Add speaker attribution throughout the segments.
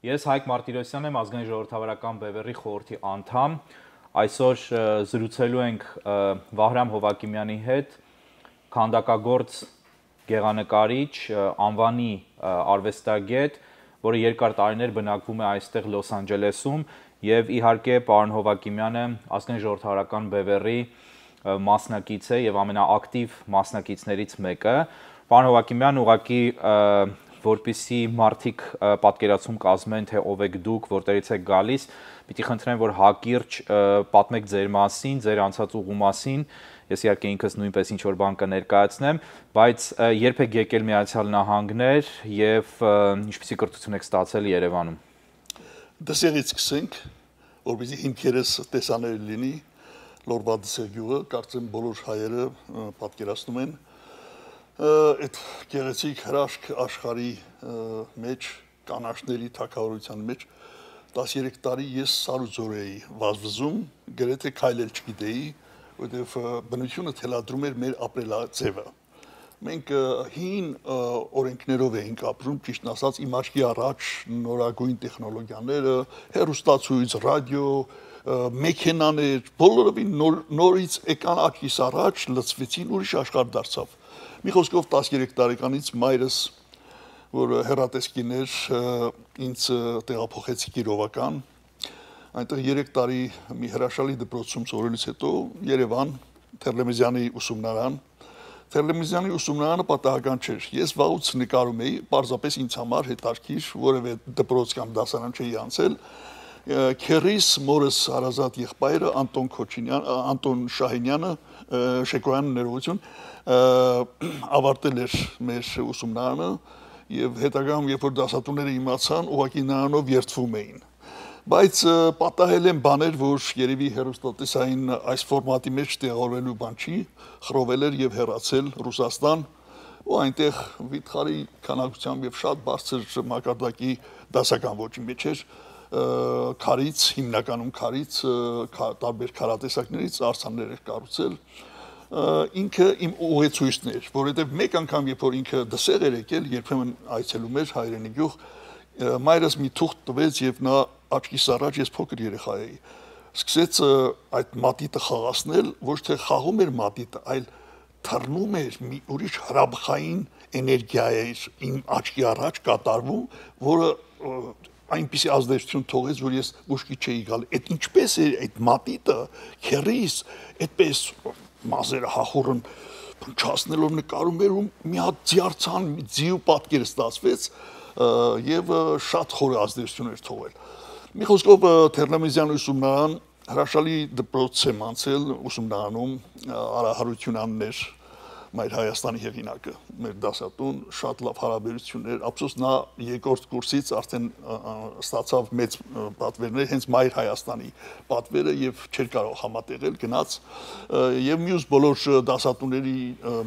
Speaker 1: Ես Հայկ Մարտիրոսյանն եմ, ազգային ժողովրդավարական բևեռի խորհրդի անդամ։ Այսօր զրուցելու ենք Վահրամ Հովակիմյանի հետ, քանդակագործ գեղանկարիչ, անվանի արվեստագետ, որը երկար տարիներ բնակվում է այստեղ Լոս Անջելեսում, եւ իհարկե պարոն Հովակիմյանը ազգային ժողովրդավարական բևեռի մասնակից է եւ ամենաակտիվ մասնակիցներից մեկը։ Պարոն Հովակիմյան, ուղղակի որպեսզի մարդիկ պատկերացում կազմեն, թե ով եք դուք, որտեղից եք գալիս, պիտի խնդրեմ, որ հակիրճ պատմեք ձեր մասին, ձեր անցած ուղու մասին։ Ես իհարկե ինքս նույնպես ինչ-որ բան կներկայացնեմ, բայց երբ եք եկել Միացյալ Նահանգներ եւ ինչպիսի կրթություն եք ստացել Երևանում։
Speaker 2: Դասերից սկսենք, որպեսզի հիմքերս տեսանելի լինի, Լորվա Դսերգյուղը, կարծեմ բոլոր հայերը պատկերացնում են այդ գեղեցիկ հրաշք աշխարհի մեջ, կանաչների թագավորության մեջ 13 տարի ես սարուձոր էի վազվզում, գրեթե քայլել չգիտեի, որովհետև բնությունը թելադրում էր մեր ապրելաձևը։ Մենք հին օրենքներով էինք ապրում, ճիշտ ասած, իմ աչքի առաջ նորագույն տեխնոլոգիաները, հեռուստացույց, ռադիո, մեքենաներ, բոլորովին նորից եկան աչքիս առաջ, լցվեցին, ուրիշ աշխարհ դարձավ։ Մի խոսքով 13 տարեկանից մայրս, որ հեռատեսկին էր, ինձ տեղափոխեց Կիրովական, այնտեղ 3 տարի մի հրաշալի դպրոցում սովորելուց հետո Երևան, Թերլեմեզյանի ուսումնարան։ Թերլեմեզյանի ուսումնարանը պատահական չէր։ Ես վաղուց նկարում էի, պարզապես ինձ համար հետաքրքիր, որևէ դպրոց կամ դասարան չէի անցել։ Քերիս մորս հարազատ եղբայրը Անտոն Շահինյանը, Շեկոյանը ներողություն, ավարտել էր մեր ուսումնարանը եւ հետագայում երբ որ դասատուները իմացան, ուղղակի նրանով երդվում էին։ Բայց պատահել են բաներ, որ երևի հեռուստատեսային այս ֆորմատի մեջ տեղավորելու բան չի, խռովել էր եւ հեռացել Ռուսաստան, ու այնտեղ վիթխարի քանակությամբ եւ շատ բարձր մակարդակի դասական ոճի մեջ էր քարից, հիմնականում քարից, տարբեր քարատեսակներից արձաններ էր կառուցել։ Ինքը իմ ուղեցույցն էր, որովհետև մեկ անգամ երբ որ ինքը դսեղ էր եկել, երբեմն այցելում էր հայրենի գյուղ, մայրս մի թուղթ տվեց եւ նա աչքիս առաջ, ես փոքր երեխա էի, սկսեց այդ մատիտը խաղացնել, ոչ թե խաղում էր մատիտը, այլ թռնում էր մի ուրիշ հրաբխային էներգիա էր իմ աչքի առաջ կատարվում, որը այնպիսի ազդեցություն թողեց, որ ես ուշքի չէի գալ։ Այդ ինչպես է այդ մատիտը, քերիս, այդպես մազերը հախուռն փնչացնելով նկարում էր ու մի հատ ձիարցան, ձիու պատկեր ստացվեց եւ շատ խոր ազդեցություն էր թողել։ Մի խոսքով Թերլեմեզյան ուսումնարան հրաշալի դպրոց եմ անցել ուսումնարանում, Արա Հարությունյանն էր Մայր Հայաստանի հեղինակը, մեր դասատուն, շատ լավ հարաբերություններ, ափսոս նա երկրորդ կուրսից արդեն ստացավ մեծ պատվերներ, հենց Մայր Հայաստանի պատվերը եւ չէր կարող համատեղել, գնաց եւ մյուս բոլոր դասատուների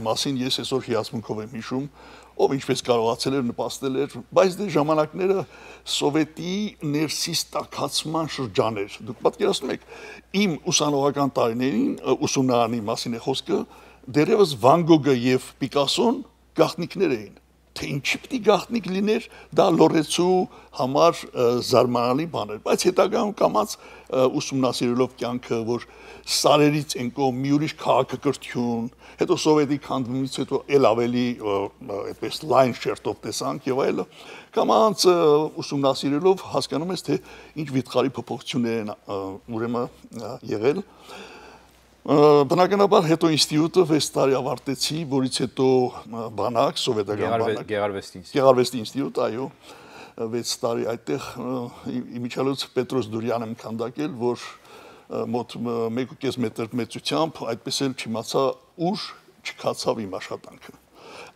Speaker 2: մասին ես այսօր հիացմունքով եմ հիշում, ով ինչպես կարողացել էր նպաստել էր, բայց դե ժամանակները սովետի ներսիս տաքացման շրջան էր։ Դուք պատկերացնում եք, իմ ուսանողական տարիներին ուսումնարանի մասին է խոսքը, դերևս Վան Գոգը եւ Պիկասոն գաղտնիքներ էին, թե ինչի պիտի գաղտնիք լիներ, դա լորեցու համար զարմանալի բան էր, բայց հետագայում կամած ուսումնասիրելով կյանքը, որ սարերից ենկով մի ուրիշ քաղաքակրթություն, հետո սովետի քանդումից հետո էլ ավելի այդպես լայն շերտով տեսանք եւ այլը, կամած ուսումնասիրելով հասկանում ես, թե ինչ վիթխարի փոփոխություններ են ուրեմն եղել։ Բնականաբար հետո ինստիտուտը 6 տարի ավարտեցի, որից հետո բանակ, սովետական բանակ, Գեղարվեստի ինստիտուտ, այո, 6 տարի այդտեղ իմիջիալոց Պետրոս Դուրյան եմ քանդակել, որ մոտ 1.5 մետր մեծությամբ, այդպես էլ չիմացա ուր չքացավ իմ աշխատանքը։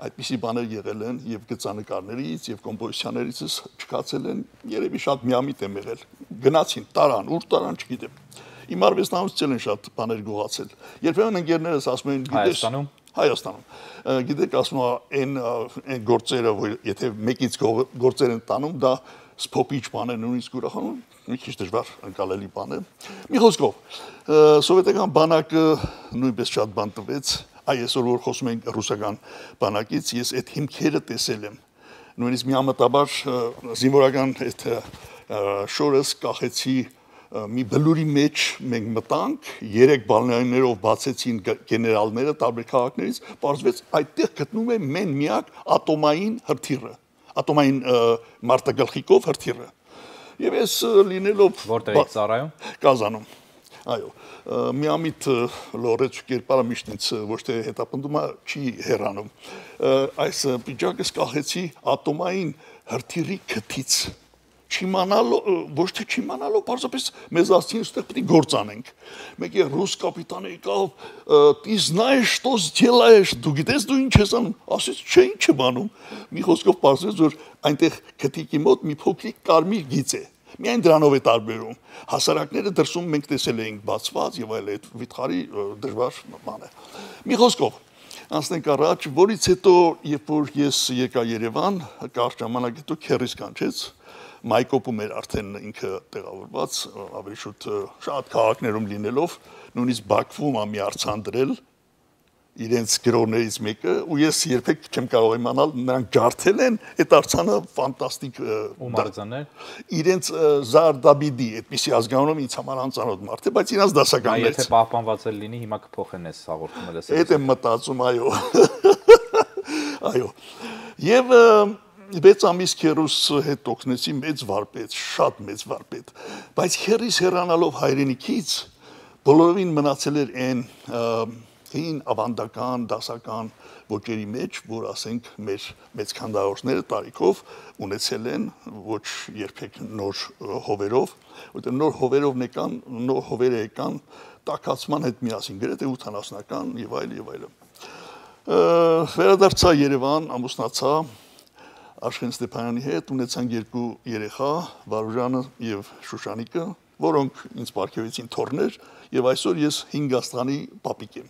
Speaker 2: Այդպիսի բաներ եղել են եւ գծանկարներից եւ կոմպոզիցիաներից չքացել են, երևի շատ միամիտ եմ եղել։ Գնացին, տարան, ուր տարան չգիտեմ։ Իմ արվեստանոցից են շատ բաներ գողացել։ Երբեմն ընկերներս ասում են, գիտես, Հայաստանում, գիտեք, ասում են այն գործերը, որ եթե մեկից գործեր են տանում, դա սփոփիչ բան է, նույնիսկ ուրախանում, մի քիչ դժվար ընկալելի բան է։ Մի խոսքով, սովետական բանակը նույնպես շատ բան տվեց, այսօր որ խոսում ենք ռուսական բանակից, ես այդ հիմքերը տեսել եմ։ նույնիսկ միամտաբար զինվորական այդ շորս կախեցի մի բլուրի մեջ մենք մտանք 3 բալներով բացեցին գեներալները տարբեր քաղաքներից բարձվեց այդտեղ գտնում է մեն միակ ատոմային հրթիռը ատոմային մարտագլխիկով հրթիռը եւ ես լինելով
Speaker 1: որտեղ եք ծառայում
Speaker 2: Կազանում այո միամիտ լորեց կերպարը միշտ ինձ ոչ թե հետապնդում չի հեռանում այս պիջակս կախեցի ատոմային հրթիռի քթից չիմանալով ոչ թե չիմանալով պարզապես մեզ ասին ստեղ պետք է գործ անենք մեկը ռուս կապիտանը եկավ ты знаешь что сделаешь դու գիտես դու ինչ ես անում ասես չէ ինչ եմ անում մի խոսքով պարզվեց որ այնտեղ քթիկի մոտ մի փոքրիկ կարմիր գիծ է միայն դրանով է տարբերում հասարակները դրսում մենք տեսել էինք բացված եւ այլ այդ վիթխարի դժվար բան է մի խոսքով անցնենք առաջ որից հետո երբ որ ես եկա Երևան կարճ ժամանակ հետո քերիս կանչեց Մայկոպում էր արդեն ինքը տեղավորված ավելի շուտ շատ քաղաքներում լինելով նույնիսկ Բաքվում ամի արցանդրել իրենց գրողներից մեկը ու ես երբեք չեմ կարող իմանալ նրանք ջարդել են այդ արցանը ֆանտաստիկ
Speaker 1: ումարձաներ
Speaker 2: իրենց Զարդաբիդի այդպիսի ազգանունով ինձ համար անծանոթ մարդ է բայց իրենց դասականներից
Speaker 1: եթե պահպանված է լինի հիմա կփոխեն այս հաղորդումը լսել
Speaker 2: այդ եմ մտածում այո այո եւ 6 ամիս քերուս հետ օգնեցի մեծ վարպետ, շատ մեծ վարպետ, բայց քերիս հեռանալով հայրենիքից բոլորովին մնացել էր այն հին ավանդական, դասական ոճերի մեջ, որ ասենք մեր մեծ քանդակները տարիքով ունեցել են ոչ երբեք նոր հովերով, որտեղ նոր հովերով եկան, նոր հովերը եկան տաքացման հետ միասին, գրեթե 80-ական եւ այլ եւ այլն։ Վերադարձա Երևան, ամուսնացա Աշխեն Ստեփանյանի հետ ունեցանք 2 երեխա, Վարուժանը եւ Շուշանիկը, որոնք ինձ պարգևեցին թորներ եւ այսօր ես 5 աստղանի պապիկ եմ։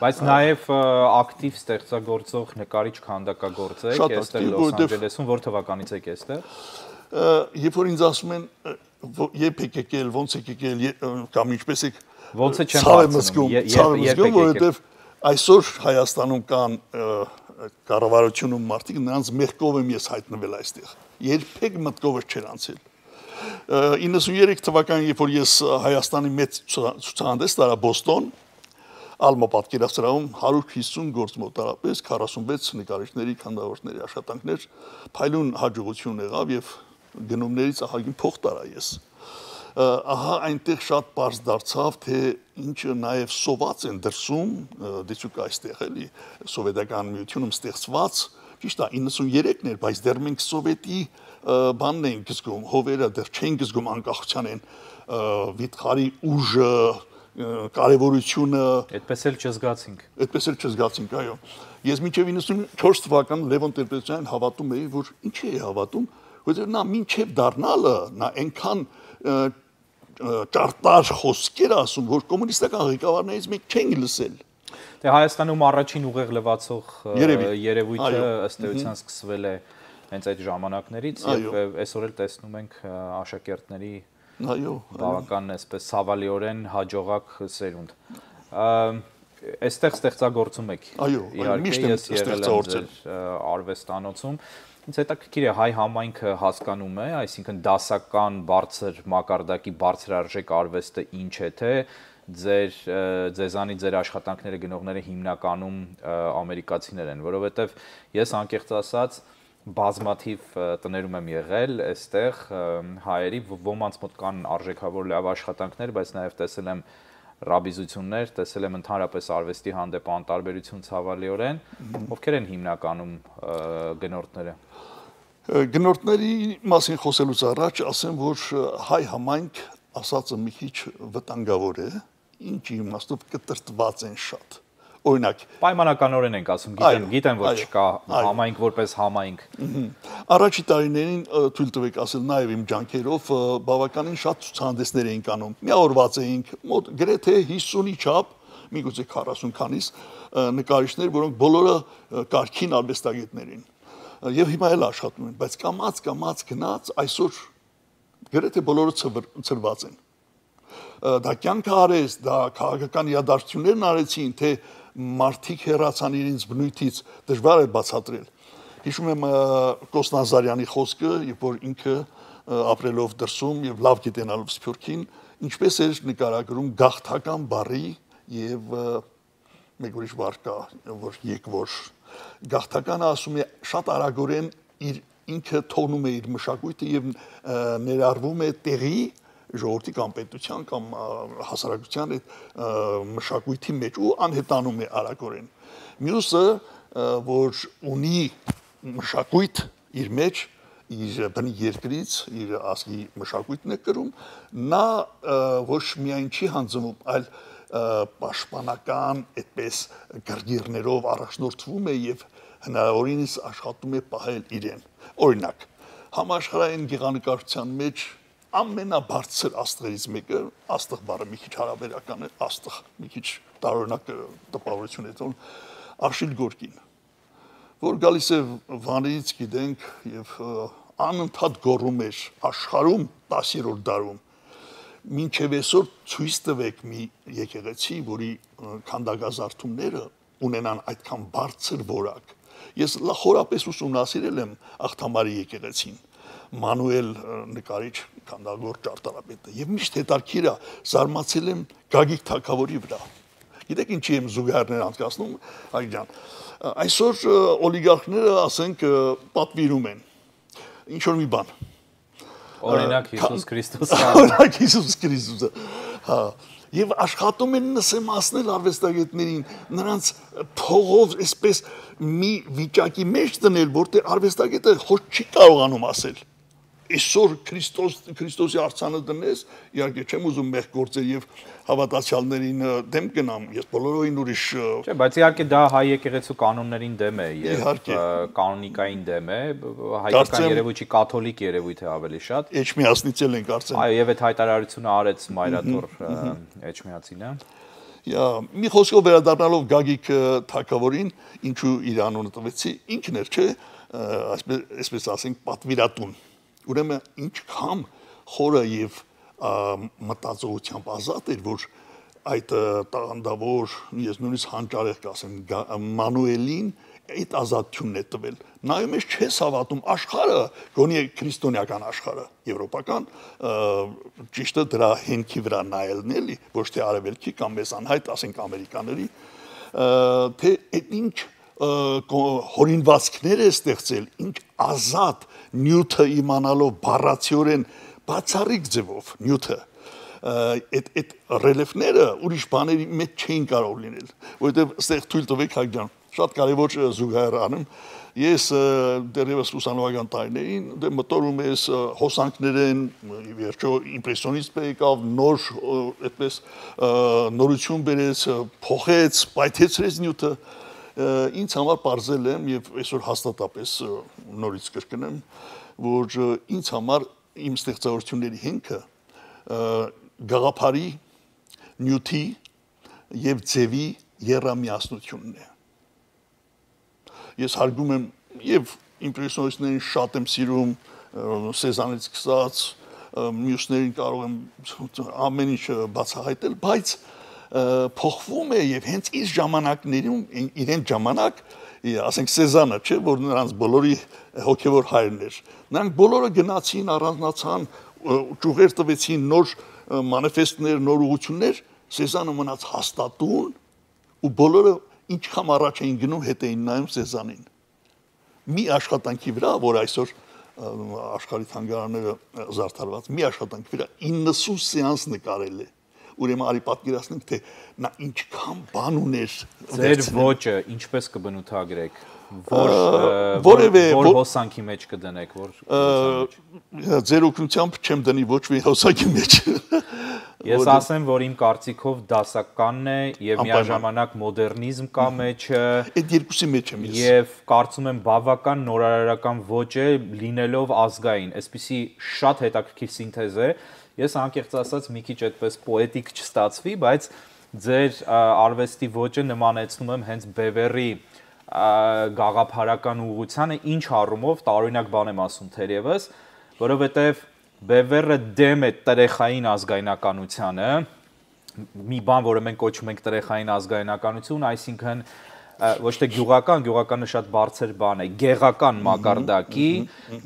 Speaker 1: Բայց նաեւ ակտիվ ստեղծագործող նկարիչ քանդակագործ եք, այստեղ Լոս Անջելեսում, որ թվականից եք այստեղ։
Speaker 2: Երբ որ ինձ ասում են երբ եք եկել, ոնց եք եկել կամ ինչպես եք
Speaker 1: ոնց է չեմ հարցնում,
Speaker 2: որովհետեւ այսօր Հայաստանում կան կառավարությունում մարդիկ նրանց մեղքով եմ ես հայտնվել այստեղ երբեք մտքովս չեր անցել 93 թվականին երբ որ ես Հայաստանի մեծ ցուցահանդես տարա Բոստոն Ալմա պատկերասրահում 150 գործ մոտարապես 46 նկարիչների քանդավորների աշխատանքներ փայլուն հաջողություն եղավ եւ գնումներից ահագին փող տարա ես ահա այնտեղ շատ բարձ դարձավ թե ինչը նաև սոված են դրսում դիցուկ այստեղ էլի սովետական միությունում ստեղծված ճիշտ է 93-ն էր բայց դեռ մենք սովետի բանն ենք զգում հովերը դեռ չենք զգում անկախության են վիթխարի ուժը կարևորությունը
Speaker 1: այդպես էլ
Speaker 2: չզգացինք այո ես մինչև 94 թվական Լևոն Տեր-Պետրոսյանին հավատում էի որ ինչի է հավատում որովհետև նա մինչև դառնալը նա այնքան ճարտար խոսքեր ասում, որ կոմունիստական ղեկավարներից մենք չենք լսել։
Speaker 1: Դե Հայաստանում առաջին ուղեղ լվացող երևույթը ըստ էության սկսվել է հենց այդ ժամանակներից եւ այսօր էլ տեսնում ենք աշակերտների բավական այսպես ցավալիորեն հաջողակ սերունդ։ Այստեղ ստեղծագործում եք։ Իհարկե ես եղել եմ արվեստանոցում Ինձ հետաքրքիր է հայ համայնքը հասկանում է, այսինքն դասական բարձր մակարդակի բարձրարժեք արվեստը ինչ է թե ձեզանի ձեր աշխատանքները գնողները հիմնականում ամերիկացիներ են, որովհետև ես անկեղծ ասած բազմաթիվ տներում եմ եղել, այստեղ հայերի ոմանց մոտ կան արժեքավոր լավ աշխատանքներ, բայց նաև տեսել եմ ռաբիզություններ, տեսել եմ ընդհանրապես արվեստի հանդեպ անտարբերություն ցավալիորեն, ովքեր են հիմնականում գնորդները։
Speaker 2: Գնորդների մասին խոսելուց առաջ ասեմ, որ հայ համայնք ասածը մի քիչ վտանգավոր է, ինչի իմաստով կտրտված են շատ։ Օրինակ,
Speaker 1: պայմանականորեն ենք ասում, գիտեմ որ չկա համայնք որպես համայնք։
Speaker 2: Առաջի տարիներին թույլ տվեք ասել նաև իմ ջանքերով բավականին շատ ցուցահանդեսներ էինք անում։ Միավորված էինք, մոտ գրեթե 50-ի չափ, միգուցե 40 քանիս նկարիչներ, որոնք բոլորը կարգին արվեստագետներ են։ Եվ հիմա էլ աշխատում են, բայց կամած գնաց այսօր գրեթե բոլորը ծրված են։ Դա կյանքը արեց, դա քաղաքական իրադարձություններն արեցին, թե մարդիկ հեռացան իրենց բնույթից, դժվար է բացատրել։ Հիշում եմ Կոստանզարյանի խոսքը, երբ որ ինքը ապրելով դրսում եւ լավ գիտենալով Սփյուռքին, ինչպես էր նկարագրում գաղթական բարի եւ մեկ ուրիշ բառ կա, որ եկվոր գաղթականը ասում է շատ արագորեն իր ինքը թողնում է իր մշակույթը եւ ներառվում է տեղի ժողովրդի կամ պետության կամ հասարակության այդ մշակույթի մեջ ու անհետանում է արագորեն։ Մյուսը, որ ունի մշակույթ իր մեջ, իր բնի երկրից, իր ազգի մշակույթն է կրում, նա ոչ միայն չի հանձնում, այլ պաշտպանական այդպես գրգիրներով առաջնորդվում է եւ հնարավորինս աշխատում է պահել իրեն։ Օրինակ, համաշխարհային գեղանկարչության մեջ ամենաբարձր աստղերից մեկը, աստղ բառը մի քիչ հարաբերական է, աստղ, մի քիչ տարօրինակ տպավորություն է տոն, Աշիլ Գորկին, որ գալիս է Վանից, գիտենք, եւ անընդհատ գոռում էր աշխարհում 10-րդ դարում մինչև այսօր ցույց տվեք մի եկեղեցի, որի քանդակազարդումները ունենան այդքան բարձր որակ։ Ես խորապես ուսումնասիրել եմ Աղթամարի եկեղեցին, Մանուել նկարիչ քանդագործ ճարտարապետը եւ միշտ հետաքրքիր է, զարմացել եմ Գագիկ թագավորի վրա։ Գիտեք ինչի եմ զուգահեռներ անցկացնում, այ ջան։ Այսօր օլիգարխները, ասենք, պատվիրում են ինչ որ մի բան։
Speaker 1: Օրինակ Հիսուս Քրիստոսը։
Speaker 2: Օրինակ Հիսուս Քրիստոսը։ Հա։ Եվ աշխատում են նսեմացնել արվեստագետներին, նրանց փողով այսպես մի վիճակի մեջ դնել, որտեղ արվեստագետը ոչ չի կարողանում ասել։ Այսօր Քրիստոսի արձանը դնես, իհարկե չեմ ուզում մեղ գործել եւ հավատացյալներին դեմ գնամ, ես բոլորովին ուրիշ
Speaker 1: Չէ, բայց իհարկե դա հայ եկեղեցու կանոններին դեմ է եւ կանոնիկային դեմ է, հայկական երևույթի կաթոլիկ երևույթ է ավելի շատ։
Speaker 2: Էջմիածնից են կարծեմ։
Speaker 1: Այո, եւ այդ հայտարարությունը արեց Մայրաթոր Էջմիածինը։
Speaker 2: Մի խոսքով վերադառնալով Գագիկ թագավորին, ինչու իր անունը տվեցի, ինքն էր, չէ, այսպես ասենք, պատվիրատուն։ Ուրեմն ինչքան խորը եւ մտածողությամբ ազատ էր, որ այդ տաղանդավոր, ես նույնիսկ հանճարեղ կասեմ, Մանուելին այդ ազատությունն է տվել։ Նայում ես չես հավատում աշխարհը, գոնե քրիստոնեական աշխարհը, եվրոպական, ճիշտը դրա հենքի վրա նայելն էլի, ոչ թե արևելքի կամ մեզ անհայտ, ասենք ամերիկաների, թե այդ ինչ հորինվածքներ է ստեղծել, ինչ ազատ նյութը իմանալով բառացիորեն բացառիկ ձևով նյութը այդ ռելիեֆները ուրիշ բաների մեջ չէին կարող լինել, որովհետև այստեղ թույլ տվեք Հայկ ջան, շատ կարևոր զուգահեռ անեմ, ես դեռևս ուսանողական տարիներին մտորում ես հոսանքներ են, վերջո իմպրեսիոնիստ եկավ, նոր այդպես նորություն բերեց, փոխեց, պայթեցրեց նյութը, ինձ համար պարզել եմ եւ այսօր հաստատապես նորից կրկնեմ, որ ինձ համար իմ ստեղծարարությունների հիմքը գաղափարի, նյութի եւ ձևի եռամիասնությունն է։ Ես հարգում եմ եւ իմպրեսիոնիստներին շատ եմ սիրում, Սեզանից սկսած, մյուսներին կարող եմ ամեն ինչ բացահայտել, բայց փոխվում է եւ հենց իր ժամանակներում իրեն ժամանակ, ասենք Սեզանը, չէ, որ նրանց բոլորի հոգեվոր հայրն էր։ Նրանք բոլորը գնացին, առանձնացան, ճյուղեր տվեցին, նոր մանիֆեստներ, նոր ուղղություններ, Սեզանը մնաց հաստատուն ու բոլորը ինչքան առաջ էին գնում, հետ էին նայում Սեզանին։ Մի աշխատանքի վրա, որ այսօր աշխարհի թանգարանները զարդարված, մի աշխատանքի վրա 90 սեանս նկարել է։ Ուրեմն արի պատկերացնենք, թե նա ինչքան բան ուներ։
Speaker 1: Ձեր ոճը ինչպես կբնութագրեք, որ հոսանքի մեջ կդնեք,
Speaker 2: ձեր օգնությամբ չեմ դնի ոչ մի հոսանքի մեջ։
Speaker 1: Ես ասեմ, որ իմ կարծիքով դասականն է եւ միաժամանակ մոդեռնիզմ կա մեջը։
Speaker 2: Այդ երկուսի մեջ եմ ես։
Speaker 1: Եվ կարծում եմ բավական նորարարական ոճ է լինելով ազգային, այսպիսի շատ հետաքրքիր սինթեզ է։ Ես անկեղծ ասած մի քիչ այդպես պոետիկ չստացվի, բայց ձեր արվեստի ոճը նմանեցնում եմ հենց Բևերի գաղափարական ուղղությանը, ինչ առումով տարօրինակ բան եմ ասում թերևս, որովհետև Բևերը դեմ է տրեխային ազգայնականությանը, մի բան, որը մենք կոչում ենք տրեխային ազգայնականություն, այսինքն ոչ թե գյուղականը շատ բարձր բան է, գեղական մակարդակի,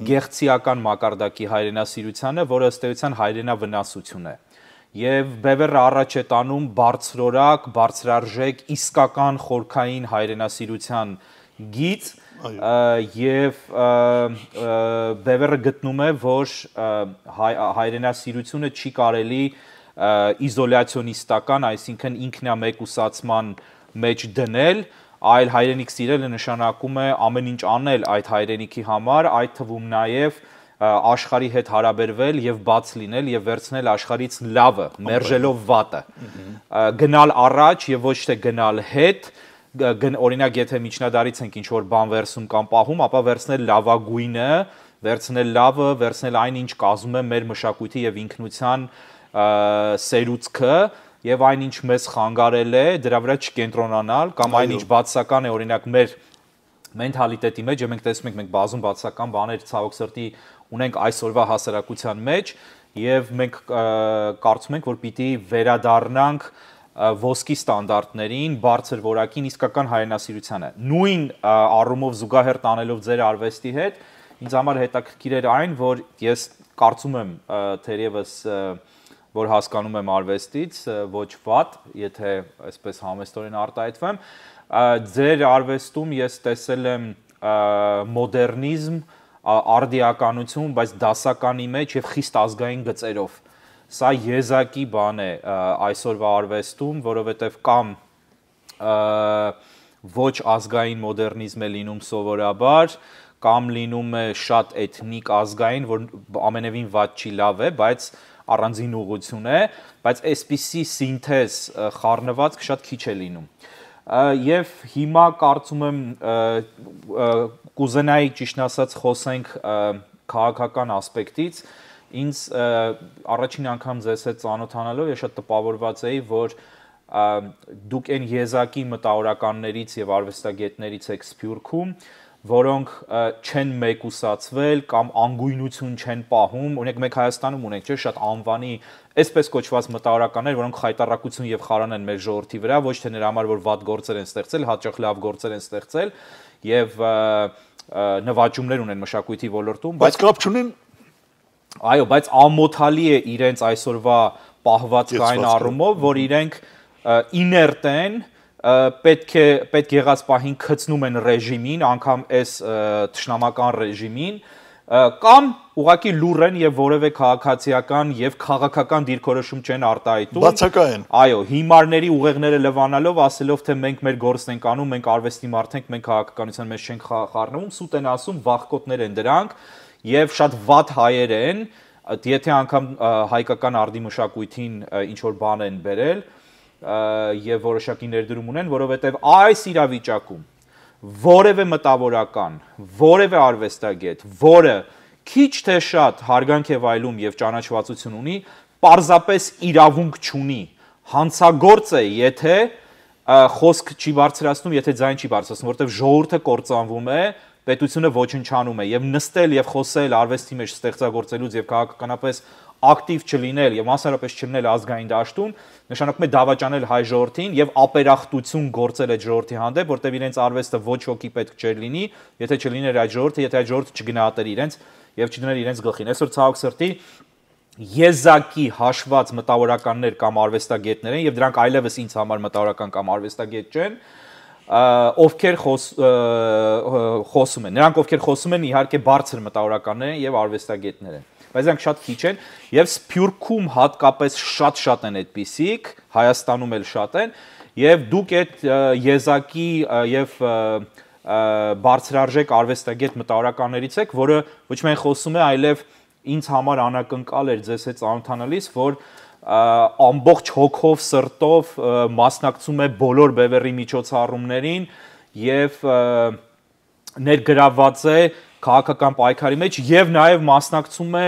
Speaker 1: գեղցիական մակարդակի հայրենասիրությանը, որը ըստ էության հայրենավնասություն է։ Եվ Բևերը առաջ է տանում բարձրորակ, բարձրարժեք, իսկական խորքային հայրենասիրության գիծ, եւ Բևերը գտնում է, որ հայրենասիրությունը չի կարելի իզոլացիոնիստական, այսինքն ինքնամեկուսացման մեջ դնել, այլ հայրենիք սիրելը նշանակում է ամեն ինչ անել այդ հայրենիքի համար, այդ թվում նաև աշխարհի հետ հարաբերվել եւ բաց լինել եւ վերցնել աշխարհից լավը, մերժելով վատը, գնալ առաջ եւ ոչ թե գնալ հետ, օրինակ եթե միջնադարից ենք ինչ որ բան վերցում կամ պահում, ապա վերցնել լավագույնը, վերցնել լավը, վերցնել այն ինչ կազմում է մեր մշակույթի եւ ինքնության սերուցքը եւ այնինչ մեզ խանգարել է, դրա վրա չկենտրոնանալ կամ այնինչ բացական է, օրինակ մեր մենթալիտետի մեջ, եւ մենք տեսնում ենք, մենք բազում բացական բաներ ցավոք սրտի ունենք այսօրվա հասարակության մեջ եւ մենք կարծում ենք, որ պիտի վերադառնանք ոսկի ստանդարտներին, բարձր որակին, իսկական հայրենասիրությանը։ Նույն առումով զուգահեռ տանելով ձեր արվեստի հետ, ինձ համար հետաքրքիր էր այն, որ ես կարծում եմ թերևս որ հասկանում եմ արվեստից, ոչ վատ, եթե այսպես համեստորեն արտահայտվեմ, ձեր արվեստում ես տեսել եմ մոդեռնիզմ, արդիականություն, բայց դասականի մեջ եւ խիստ ազգային գծերով։ Սա եզակի բան է այսօրվա արվեստում, որովհետեւ կամ ոչ ազգային մոդեռնիզմ է լինում սովորաբար, կամ լինում է շատ էթնիկ ազգային, որ ամենևին վատ չի, լավ է, բայց առանձին ուղղություն է, բայց այսպիսի սինթեզ խառնվածք շատ քիչ է լինում։ Եվ հիմա կարծում եմ կուզենայի ճիշտ ասած խոսենք քաղաքական ասպեկտից, ինձ առաջին անգամ ձեզ հետ ծանոթանալով ես շատ տպավորված էի, որ դուք այն եզակի մտավորականներից եւ արվեստագետներից եք Սփյուռքում, որոնք չեն մեկուսացվել կամ անգույնություն չեն պահում, օրինակ մենք Հայաստանում ունենք, չէ՞, շատ անվանի, այսպես կոչված մտավորականներ, որոնք խայտառակություն եւ խարան են մեր ժողովրդի վրա, ոչ թե նրա համար, որ վատ գործեր են ստեղծել, հաճախ լավ գործեր են ստեղծել եւ նվաճումներ ունեն մշակույթի ոլորտում,
Speaker 2: բայց կապ չունեն։
Speaker 1: Այո, բայց ամոթալի է իրենց այսօրվա պահվածքային առումով, որ իրենք իներտ են, պետք եղած պահին քծնում են ռեժիմին, անգամ այս թշնամական ռեժիմին, կամ ուղղակի լուռ են եւ որևէ քաղաքացիական եւ քաղաքական դիրքորոշում չեն արտահայտում։
Speaker 2: Բացակայեն։
Speaker 1: Այո, հիմարների ուղեղները լվանալով, ասելով թե մենք մեր գործն ենք անում, մենք արվեստի մարդ ենք, մենք քաղաքականության մեջ չենք խառնվում, սուտ են ասում, վախկոտներ են դրանք եւ շատ վատ հայեր են, եթե անգամ հայկական արդի մշակույթին ինչ որ բան են բերել եւ որոշակի ներդրում ունեն, որովհետեւ այս իրավիճակում որևէ մտավորական, որևէ արվեստագետ, որը քիչ թե շատ հարգանք է վայելում եւ ճանաչվածություն ունի, պարզապես իրավունք չունի, հանցագործ է, եթե խոսք չի բարձրացնում, եթե ձայն չի բարձրացնում, որովհետեւ ժողովուրդը կործանվում է, պետությունը ոչնչանում է եւ նստել եւ խոսել արվեստի մեջ ստեղծագործելուց եւ քաղաքականապես ակտիվ չլինել եւ մասնարարապես չլինել ազգային դաշտում, նշանակում է դավաճանել հայ ժողովրդին եւ ապերախտություն գործել այդ ժողովրդի հանդեպ, որտեղ իրենց արվեստը ոչ ոքի պետք չէր լինի, եթե չլիներ այդ ժողովուրդը, եթե այդ ժողովուրդը չգնահատեր իրենց եւ չդներ իրենց գլխին։ Այսօր ցավոք սրտի եզակի հաշված մտավորականներ կամ արվեստագետներ են եւ դրանք այլևս ինձ համար մտավորական կամ արվեստագետ չեն, ովքեր խոսում են։ Նրանք ովքեր խոսում են, իհարկե բարձր մտավորականներ են եւ արվեստագետներ են, բայց դրանք շատ քիչ են եւ Սփյուռքում հատկապես շատ են այդպիսիք, Հայաստանում էլ շատ են եւ դուք այդ եզակի եւ բարձրարժեք արվեստագետ մտավորականներից եք, որը ոչ միայն խոսում է, այլև ինձ համար անակնկալ էր ձեզ հետ ծանոթանալիս, որ ամբողջ հոգով, սրտով մասնակցում է բոլոր Բևերի միջոցառումներին եւ ներգրավված է քաղաքական պայքարի մեջ եւ նաեւ մասնակցում է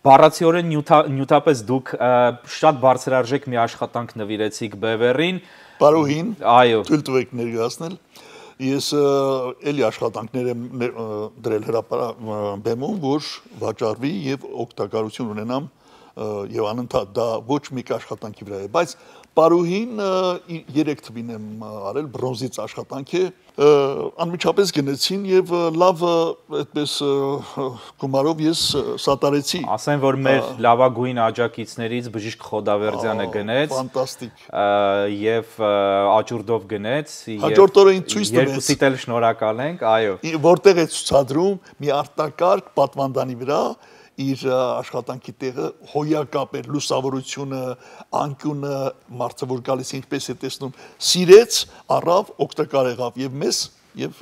Speaker 1: բառացիորեն նյութապես դուք շատ բարձրարժեք մի աշխատանք նվիրեցիք Բևերին։
Speaker 2: Պարոհին,
Speaker 1: այո,
Speaker 2: թույլ տվեք ներկայացնել։ Ես էլի աշխատանքներ եմ դրել հրապարակում, որ վաճառվի եւ օգտակարություն ունենամ եւ անընդհատ դա ոչ մի աշխատանքի վրա է, բայց Պարուհին 3 թվին եմ արել բրոնզից աշխատանք է անմիջապես գնեցին եւ լավ այդպես գումարով ես սատարեցի
Speaker 1: ասեն որ մեր լավագույն աջակիցներից բժիշկ Խոդավերդյանը գնեց
Speaker 2: ֆանտաստիկ
Speaker 1: եւ աճուրդով գնեց
Speaker 2: հաջորդ օրը ինձ ցույց տվեց
Speaker 1: երկուսիդ էլ շնորհակալ ենք այո
Speaker 2: որտեղ է ցուցադրում մի արտակարգ պատվանդանի վրա իր աշխատանքի տեղը հոյակապ էր լուսավորությունը անկյունը մարդը որ գալիս ինչպես է տեսնում սիրեց առավ օգտակար եղավ եւ մեզ եւ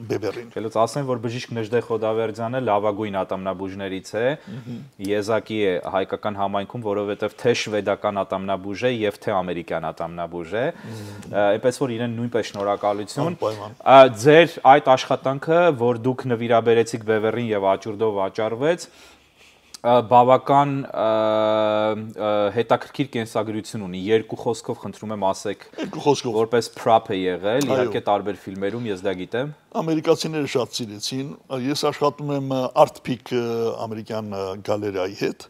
Speaker 2: բևերին
Speaker 1: Գելուց ասեն որ բժիշկ Նժդե Խոդավերդյանը լավագույն ատամնաբուժներից է եզակի է հայկական համայնքում որովհետեւ թե շվեդական ատամնաբուժ է եւ թե ամերիկյան ատամնաբուժ է այնպես որ իրեն նույնպես շնորհակալություն ձեր այդ աշխատանքը որ դուք նվիրաբերեցիք բևերին եւ աճուրդով վաճառվեց բավական հետաքրքիր կենսագրություն ունի երկու խոսքով խնդրում եմ ասեք որպես prop է եղել իհարկե տարբեր ֆիլմերում ես դա գիտեմ
Speaker 2: ամերիկացիները շատ սիրեցին ես աշխատում եմ Art Peak ամերիկյան գալերեայի հետ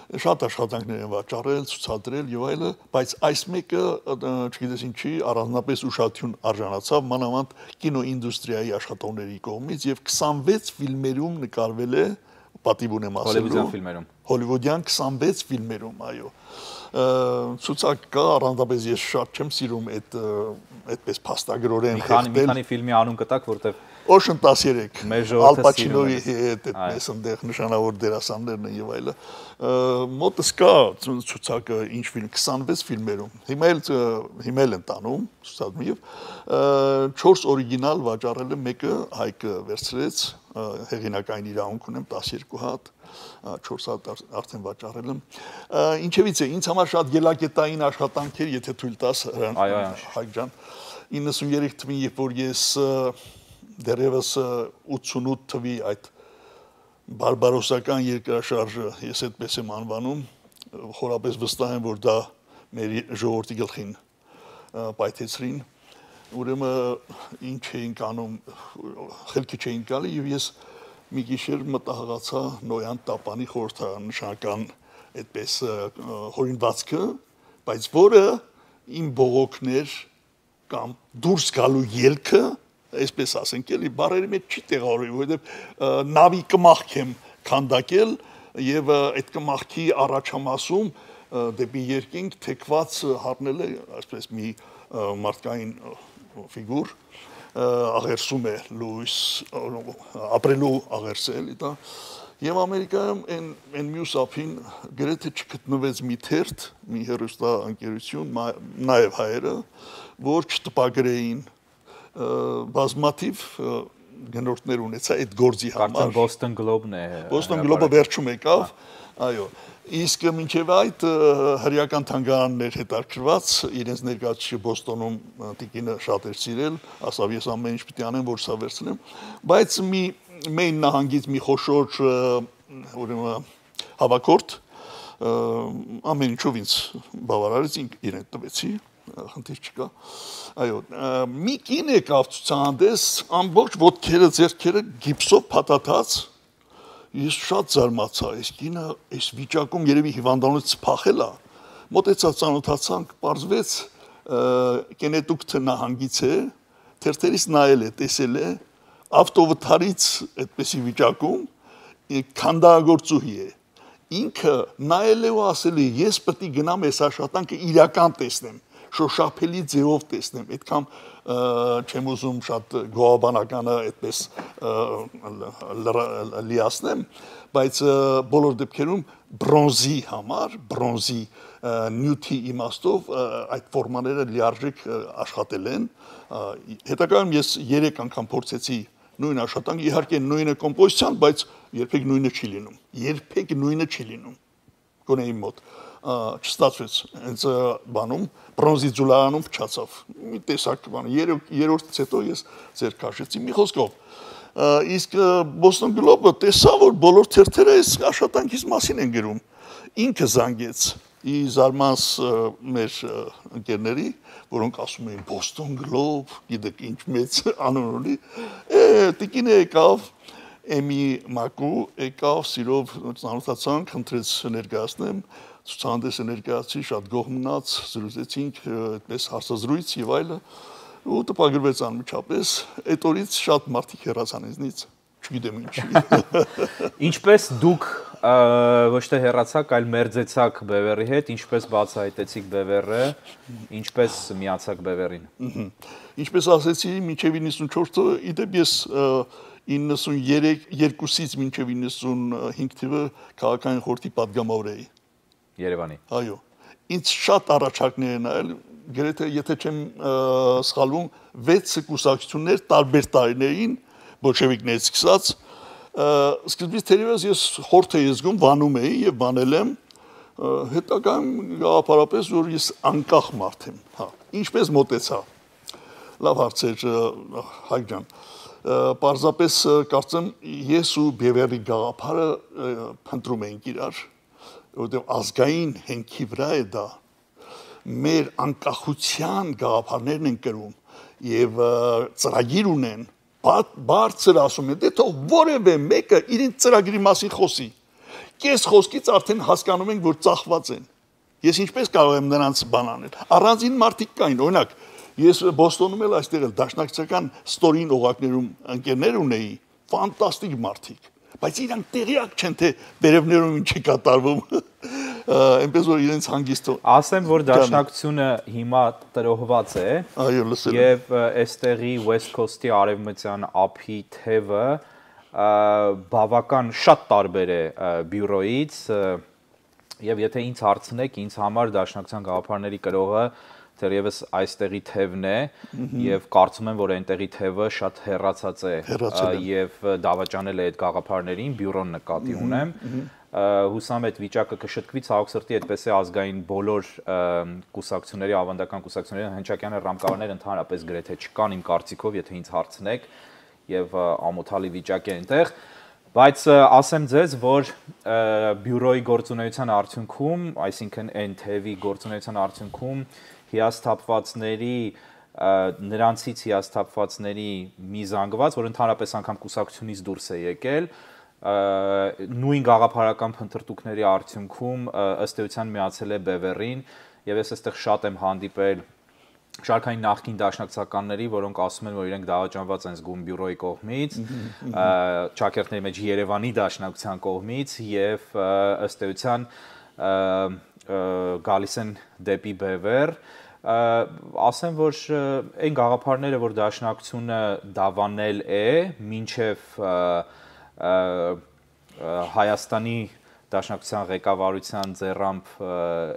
Speaker 2: շատ աշխատանքներ են վաճառել ցուցադրել եւ այլը բայց այս մեկը չգիտես ինչի առանձնապես ուշադրություն արժանացավ մանավանդ կինոինդուստրիայի աշխատողների կողմից եւ 26 ֆիլմերում նկարվել է պատիվ ունեմ ասելու հոլիվուդյան 26 ֆիլմերում այո ցուցակ կա առանձնապես ես շատ չեմ սիրում այդպես փաստագրորեն
Speaker 1: մի քանի ֆիլմի անուն կտակ որտեվ
Speaker 2: Ocean 13 Al Pacino-ի հետ այդպես այնտեղ նշանավոր դերասաններն են եւ այլը մոտս կա ցուցակը ինչ ֆիլմ 26 ֆիլմերում հիմա էլ են տանում ցուցադրում եւ 4 օրիգինալ վաճառել եմ մեկը Հայկը վերցրեց հեղինակային իրավունք ունեմ 12 հատ 4 հատ արդեն վաճառել եմ ինչևից է ինձ համար շատ ելակետային աշխատանք էր եթե թույլ տաս Հայկ ջան 93 թվին երբ որ ես դերևս 88 թվի այդ բարբարոսական երկրաշարժը ես այդպես եմ անվանում խորապես վստահ եմ որ դա մեր ժողովրդի գլխին պայթեցրին ուրեմն ինչ էինք անում խելքի չէին գալի եւ ես մի գիշեր մտահղացա Նոյան Տապանի խորհրդանշական այդպես հորինվածքը բայց որը իմ բողոքներ կամ դուրս գալու ելքը այսպես ասենք էլի բարերի մեջ չի տեղավորվի որովհետեւ նավի կմախք եմ քանդակել եւ այդ կմախքի առաջամասում դեպի երկինք թեքված հառնել է այսպես մի մարդկային ֆիգուր աղերսում է լույս ապրելու աղերսել դա եւ Ամերիկայում այն մյուս ափին գրեթե չգտնվեց մի թերթ մի հերոստա ընկերություն նաեւ հայերը որ չտպագրեին բազմաթիվ գնորդներ ունեցա այդ գործի համար
Speaker 1: Boston Globe-ն է
Speaker 2: Boston Globe-ը վերջում եկավ այո իսկ մինչև այդ հրեական թանգարաններ հետաքրված իրենց ներկայացուցիչը Բոստոնում տիկինը շատ էր սիրել ասավ ես ամեն ինչ պիտի անեմ որ սա վերցնեմ բայց մի Մեին նահանգից մի խոշոր ուրեմն հավաքորդ ամեն ինչով ինձ բավարարեց իրեն տվեցի խնդիր չկա այո մի կին եկավ ցուցահանդես ամբողջ ոտքերը ձեռքերը գիպսով փաթաթած ես շատ զարմացա այս կինը այս վիճակում երևի հիվանդանոց փախել է մոտեցա ծանոթացանք պարզվեց կենետուկտ նահանգից է թերթերից նայել է տեսել է ավտովթարից այդպեսի վիճակում քանդագործուհի է ինքը նայել է ու ասել է ես պետք է գնամ այս աշխատանքը իրական տեսնեմ շոշափելի ձևով տեսնեմ այդքան չեմ ուզում շատ գոհաբանականը այդպես լիացնեմ բայց բոլոր դեպքերում բրոնզի համար բրոնզի նյութի իմաստով այդ ֆորմաները լիարժեք աշխատել են հետագայում ես 3 անգամ փորձեցի նույն աշխատանք իհարկե նույնը կոմպոզիցիան բայց երբեք նույնը չի լինում գոնե իմ մոտ չստացվեց հենց բանում բրոնզի ձուլարանում փչացավ մի տեսակ բան երրորդից հետո ես ձեր քաշեցի մի խոսքով իսկ Boston Globe-ը տեսա որ բոլոր թերթերը այս աշխատանքից մասին են գրում ինքը զանգեց ի զարմանս մեր ընկերների որոնք ասում էին Boston Globe գիտեք ինչ մեծ անուն ունի տիկինը եկավ Էմի Մակու եկավ սիրով ծանոթացանք խնդրեց ներկայացնեմ ցուցահանդեսը ներկայացրի, շատ գոհ մնաց, զրուցեցինք այդպես հարցազրույց եւ այլը, ու տպագրվեց անմիջապես, այդ օրից շատ մարդիկ հեռացան ինձնից, չգիտեմ ինչի։
Speaker 1: Ինչպես դուք ոչ թե հեռացաք, այլ մերձեցաք Բևեռի հետ, ինչպես բացահայտեցիք Բևեռը, ինչպես միացաք Բևեռին։
Speaker 2: Ինչպես ասեցի, մինչև 94-ը, իդեպ ես 92-ից մինչև 95 թվը քաղաքային խորհրդի պատգամավոր էի
Speaker 1: Երևանի։
Speaker 2: Այո, ինձ շատ առաջարկներ են այլ, գրեթե եթե չեմ սխալվում, 6 կուսակցություններ տարբեր տարիներին, բոլշևիկներից սկսած, սկզբից թերևս ես խորհուրդ էի զգում, վանում էի եւ բանել եմ, հետագայում գաղափարապես որ ես անկախ մարդ եմ, հա, ինչպես մոտեցա։ Լավ հարց էր, Հայկ ջան։ Պարզապես կարծեմ ես ու Բևեռի գաղափարը փնտրում ենք իրար, որովհետեւ ազգային հենքի վրա է դա, մեր անկախության գաղափարներն են կրում եւ ծրագիր ունեն, բարձր ասում են, դե թող որևէ մեկը իրեն ծրագրի մասին խոսի։ Կես խոսքից արդեն հասկանում ենք, որ ծախված են։ Ես ինչպես կարող եմ նրանց բան անել։ Առանձին մարդիկ կային, օրինակ, ես Բոստոնում էլ այստեղ էլ դաշնակցական ստորին օղակներում ընկերներ ունեի, ֆանտաստիկ մարդիկ, բայց իրանք տեղյակ չեն, թե վերևներում ինչ է կատարվում։ Այնպես որ իրենց հանգիստ
Speaker 1: ասեմ, որ դաշնակցությունը հիմա տրոհված է։
Speaker 2: Այո, լսել եմ։
Speaker 1: Եվ այստեղի West Coast-ի արևմտյան ափի թևը բավական շատ տարբեր է բյուրոից, եւ եթե ինձ հարցնեք, ինձ համար դաշնակցության գաղափարների կրողը թերևս այստեղի թևն է, եւ կարծում եմ, որ այնտեղի թևը շատ հեռացած է եւ դավաճանել է այդ գաղափարներին, բյուրոն նկատի ունեմ։ Հուսամ այդ վիճակը կշտկվի, ցավոք սրտի այդպես է ազգային բոլոր կուսակցությունների, ավանդական կուսակցությունների հնչակյան ռամկավարներ ընդհանրապես գրեթե չկան իմ կարծիքով, եթե ինձ հարցնեք, եւ ամոթալի վիճակ է այնտեղ, բայց ասեմ ձեզ, որ բյուրոյի գործունեության արդյունքում, այսինքն այն թևի գործունեության արդյունքում հիասթափվածների նրանցից հիասթափվածների մի զանգված, որ ընդհանրապես անգամ կուսակցությունից դուրս է եկել, նույն գաղափարական փնտրտուքների արդյունքում ըստ էության միացել է Բևեռին, եւ ես այստեղ շատ եմ հանդիպել շարքային նախկին դաշնակցականների, որոնք ասում են, որ իրենք դավաճանված են զգում բյուրոյի կողմից, ճակերտների մեջ Երևանի դաշնակցության կողմից եւ ըստ էության գալիս են դեպի Բևեռ, ասեմ, որ այն գաղափարները, որ դաշնակցությունը դավանել է, մինչև Հայաստանի դաշնակցության ղեկավարության ձեռամբ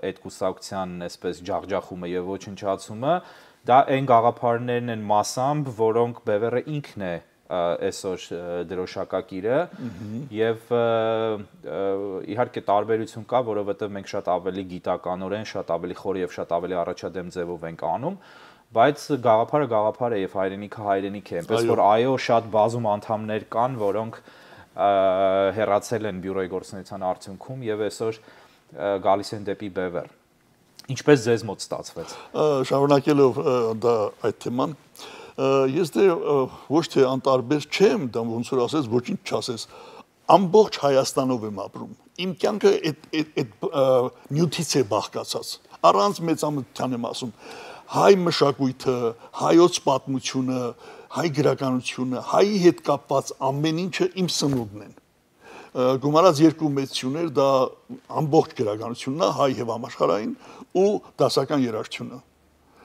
Speaker 1: այդ կուսակցության այսպես ջախջախումը եւ ոչնչացումը, դա այն գաղափարներն են մասամբ, որոնք Բևեռը ինքն է այսօր դրոշակակիրը եւ իհարկե տարբերություն կա, որովհետեւ մենք շատ ավելի գիտականորեն, շատ ավելի խոր եւ շատ ավելի առաջադեմ ձևով ենք անում, բայց գաղափարը գաղափար է եւ հայրենիքը հայրենիք է, այնպես որ այո, շատ բազում անդամներ կան, որոնք հեռացել են բյուրոյի գործունեության արդյունքում եւ այսօր գալիս են դեպի Բևեռ։ Ինչպես ձեզ մոտ ստացվեց։
Speaker 2: Շարունակելով դա այդ թեման, ես դե ոչ թե անտարբեր չեմ, դա ոնց որ ասես, ոչինչ չասես, ամբողջ Հայաստանով եմ ապրում։ Իմ կյանքը այդ նյութից է բաղկացած։ Առանց մեծամտության եմ ասում, հայ մշակույթը, հայոց պատմությունը, հայ գրականությունը, հայի հետ կապված ամեն ինչը իմ սնունդն են։ Գումարած երկու մեծություններ դա ամբողջ գրականությունն է, հայ եւ համաշխարհային ու դասական երաժշտությունը։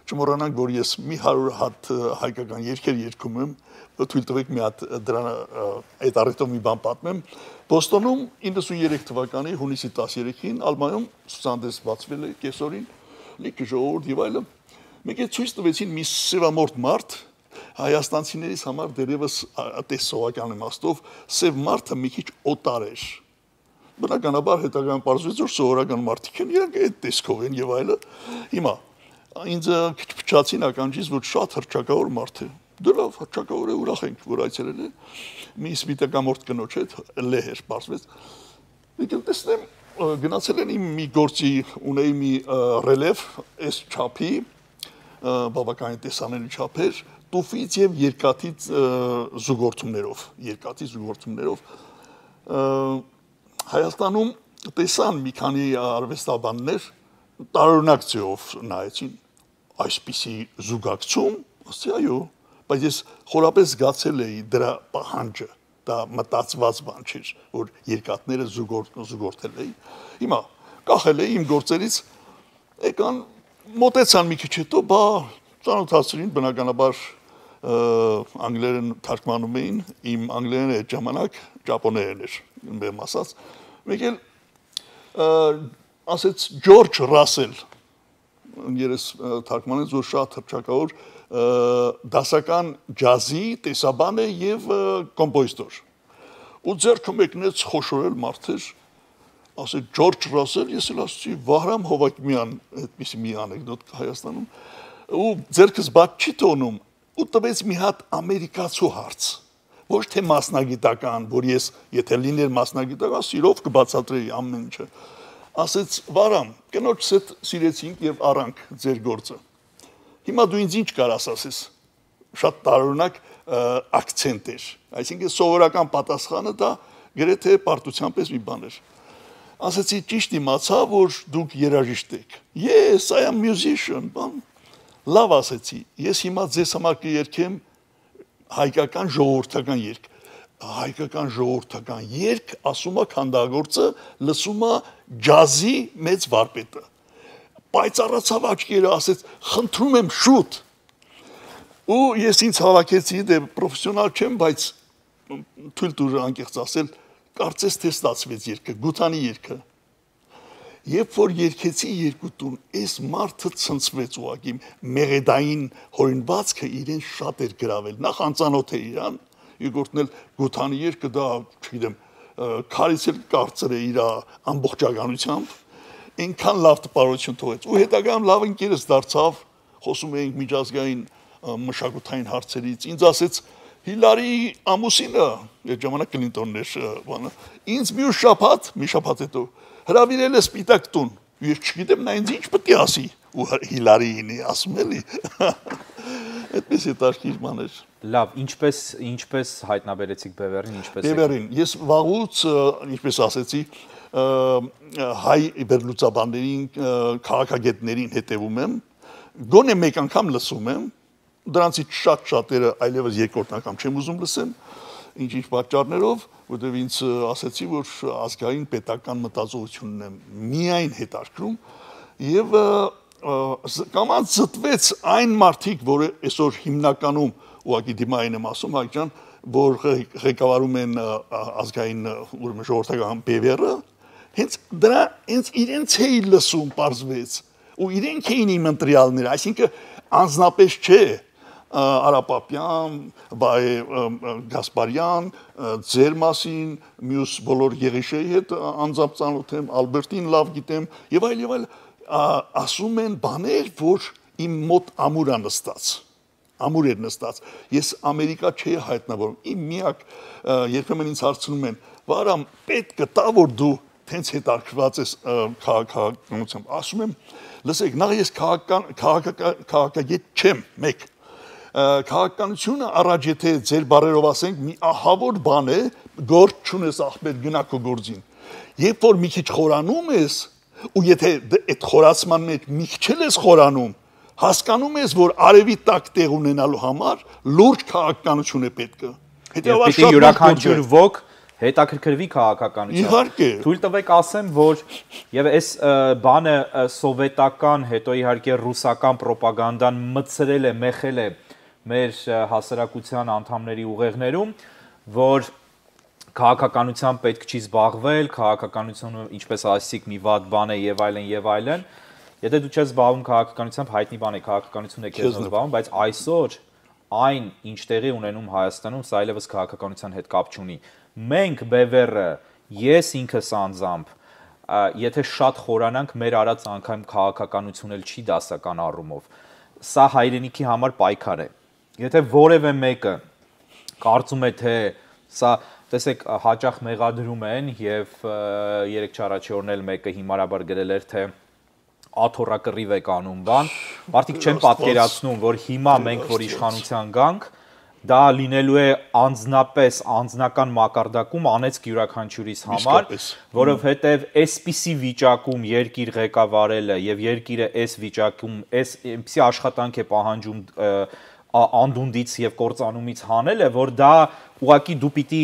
Speaker 2: Չմոռանանք, որ ես մի 100 հատ հայկական երգեր երգում եմ, թույլ տվեք մի հատ դրան այդ առիթով մի բան պատմեմ։ Բոստոնում 93 թվականի հունիսի 13-ին Ալմայում ցուցահանդես բացվել է կեսօրին, լիքը ժողովուրդ եւ այլն։ Մեկ է ցույց տվեցին մի սևամորթ մարդ, հայաստանցիներից համար դերևս տեսողական իմաստով սև մարդը մի քիչ օտար էր։ Բնականաբար հետագայում պարզվեց, որ սովորական մարդիկ են, իրանք այդ տեսքով են եւ այլը։ Հիմա ինձ քիչ փչացին ականջից, որ շատ հռչակավոր մարդ է։ Դե լավ, հռչակավոր է, ուրախ ենք, որ այցելել է։ Մի սպիտակամորթ կնոջ հետ լեհեր պարզվեց։ Եկել տեսնեմ, գնացել են իմ մի գործի ունեի մի ռելև, այս չափի, բավականին տեսանելի չափեր, տուֆից եւ երկաթից զուգորդումներով, Հայաստանում տեսան մի քանի արվեստաբաններ տարօրինակ ձևով նայեցին այսպիսի զուգակցում, ասի այո, բայց ես խորապես զգացել էի դրա պահանջը, դա մտածված բան չէր, որ երկաթները զուգորդել էի։ Հիմա կախել էի իմ գործերից, եկան մոտեցան մի քիչ հետո, բա ծանոթացրին, բնականաբար անգլերեն թարգմանում էին, իմ անգլերենը այդ ժամանակ ճապոներեն էր, բեմ ասած, մեկ էլ ասեց Ջորջ Ռասել, երես թարգմանեց, որ շատ հռչակավոր դասական ջազի տեսաբան է եւ կոմպոզիտոր։ Ու ձեռքը մեկնեց խոշորել մարդեր, ասեց Ջորջ Ռասել, ես էլ ասացի Վահրամ Հովակիմյան, այդպիսի մի անեկդոտ կա Հայաստանում, ու ձեռքս բաց չի թողնում, ու տվեց մի հատ ամերիկացու հարց, ոչ թե մասնագիտական, որ ես եթե լիներ մասնագիտական, սիրով կբացատրեի ամեն ինչը։ Ասեց Վահրամ, կնոջս հետ սիրեցինք եւ առանք ձեր գործը։ Հիմա դու ինձ ինչ կարաս ասես։ Շատ տարօրինակ ակցենտ էր։ Այսինքն սովորական պատասխանը դա գրեթե պարտության պես մի բան էր։ Ասեցի ճիշտ իմացա, որ դուք երաժիշտ եք։ Yes, I am musician, բան։ Լավ ասեցի, ես հիմա ձեզ համար կերքեմ հայկական ժողովրդական երգ։ Հայկական ժողովրդական երգ, ասում է քանդագործը, լսում է ջազի մեծ վարպետը։ Բայց առացավ աչքերը, ասեց, խնդրում եմ շուտ։ Ու ես ինձ հավաքեցի, դե պրոֆեսիոնալ չեմ, բայց թույլ տուր անկեղծ ասել, կարծես թե ստացվեց երգը, Գութանի երգը։ Երբ որ երգեցի երկու տուն, այս մարդը ցնցվեց ուղղակի, մեղեդային հորինվածքը իրեն շատ էր գրավել։ Նախ անծանոթ է իրան, երկրորդն էլ Գութանի երգը դա, չգիտեմ, քարից էլ կարծր է իր ամբողջականությամբ, այնքան լավ տպարություն թողեց։ Ու հետագայում լավ ընկերս դարձավ, խոսում էինք միջազգային մշակութային հարցերից, ինձ ասեց Հիլարի ամուսինը, այդ ժամանակ Կլինտոնն էր, բանը, ինձ մի շաբաթ հետո հրավիրել է Սպիտակ տուն։ Ես չգիտեմ նա ինձ ինչ պետք է ասի, ու Հիլարիին ասում էլի։ Այդպես հետաքրքիր բան էր։
Speaker 1: Լավ, ինչպես հայտնաբերեցիք Բևերին, ինչպես
Speaker 2: Բևերին, ես վաղուց, ինչպես ասեցի, հայ վերլուծաբաններին, քաղաքագետներին հետևում եմ, գոնե մեկ անգամ լսում եմ, դրանցից շատ-շատերը այլևս երկրորդ անգամ չեմ ուզում լսեմ, ինչ-ինչ պատճառներով, որտեղ ինձ ասեցի, որ ազգային պետական մտածողությունն է միայն հետաքրքրում եւ կամած զտվեց այն մարդիկ, որը այսօր հիմնականում ուղղակի դիմային եմ ասում, հայկական, որ ղեկավարում են ազգային ուրեմն ժողովրդական Բևերը, հենց իրենց էի լսում, պարզվեց, ու իրենք էին իմ ընտրյալները, այսինքն անձնապես չէ, Արապապյան, Գասպարյան, ձեր մասին, մյուս բոլոր Եղիշեի հետ անձամբ ծանոթ եմ, Ալբերտին լավ գիտեմ, եւ այլ, ասում են բաներ, որ իմ մոտ ամուր էր նստած, ես Ամերիկա չէի հայտնավորում, իմ միակ, երբեմն ինձ հարցնում են, Վահրամ, պետք է տա, որ դու տենց հետաքրքրված ես քաղաքականությամբ, ասում եմ, լսեք, նախ ես քաղաքագետ չեմ, մեկ, քաղաքականությունը առաջ եթե ձեր բարերով ասենք մի ահավոր բան է, գործ չունես ախպեր գնա քո գործին։ Երբ որ մի քիչ խորանում ես, ու եթե այդ խորացման մեջ մի քիչ ես խորանում, հասկանում ես, որ արևի տակ տեղ ունենալու համար լուրջ քաղաքականություն է պետք։
Speaker 1: Հետևաբար շատ յուրաքանչյուր ոք հետաքրքրվի քաղաքականությամբ։
Speaker 2: Իհարկե։
Speaker 1: Թույլ տվեք ասեմ, որ եւ այս բանը սովետական, հետո իհարկե ռուսական ռոպագանդան մցրել է, մեխել է մեր հասարակության անդամների ուղեղներում, որ քաղաքականությամբ պետք չի զբաղվել, քաղաքականությունը ինչպես ասիք մի վատ բան է եւ այլն, եթե դու չես զբաղվում քաղաքականությամբ, հայտնի բան է, քաղաքականությունը քեզ զբաղվում, բայց այսօր այն ինչ տեղի ունենում Հայաստանում, սա այլևս քաղաքականության հետ կապ չունի։ Մենք Բևերը, ես ինքս անձամբ, եթե շատ խորանանք, մեր արած անգամ քաղաքականություն էլ չի դասական առումով։ Սա հայրենիքի համար պայքար է։ Եթե որևէ մեկը կարծում է, թե սա, տեսեք, հաճախ մեղադրում են եւ 3-4 օրն էլ մեկը հիմարաբար գրել էր, թե աթոռակռիվ եք անում բան, մարդիկ չեն պատկերացնում, որ հիմա մենք որ իշխանության գանք, դա լինելու է անձնապես անձնական մակարդակում անեցք յուրաքանչյուրիս համար, որովհետև այսպիսի վիճակում երկիր ղեկավարելը եւ երկիրը այս վիճակում այսպիսի աշխատանք է պահանջում անդունդից եւ կործանումից հանելը, որ դա ուղղակի դու պիտի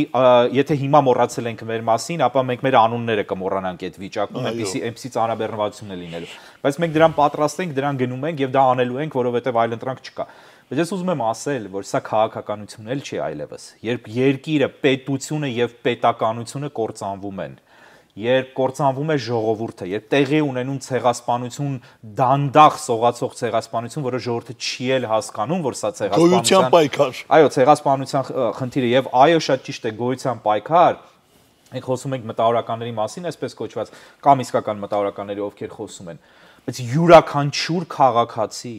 Speaker 1: եթե հիմա մոռացել ենք մեր մասին, ապա մենք մեր անունները կմոռանանք այդ վիճակում, այնպիսի ծանրաբեռնվածություն է լինելու։ Բայց մենք դրան պատրաստ ենք, դրան գնում ենք եւ դա անելու ենք, որովհետեւ այլընտրանք չկա։ Բայց ես ուզում եմ ասել, որ սա քաղաքականություն էլ չի այլևս։ Երբ երկիրը, պետությունը եւ պետականությունը կործանվում են, երբ կործանվում է ժողովուրդը, երբ տեղի ունենում ցեղասպանություն, դանդաղ սողացող ցեղասպանություն, որը ժողովուրդը չի էլ հասկանում, որ սա
Speaker 2: գոյության պայքար։
Speaker 1: Այո, ցեղասպանության խնդիրը եւ այո, շատ ճիշտ է, գոյության պայքար։ Մենք խոսում ենք մտավորականների մասին, այսպես կոչված, կամ իսկական մտավորականների, ովքեր խոսում են, բայց յուրաքանչյուր քաղաքացի,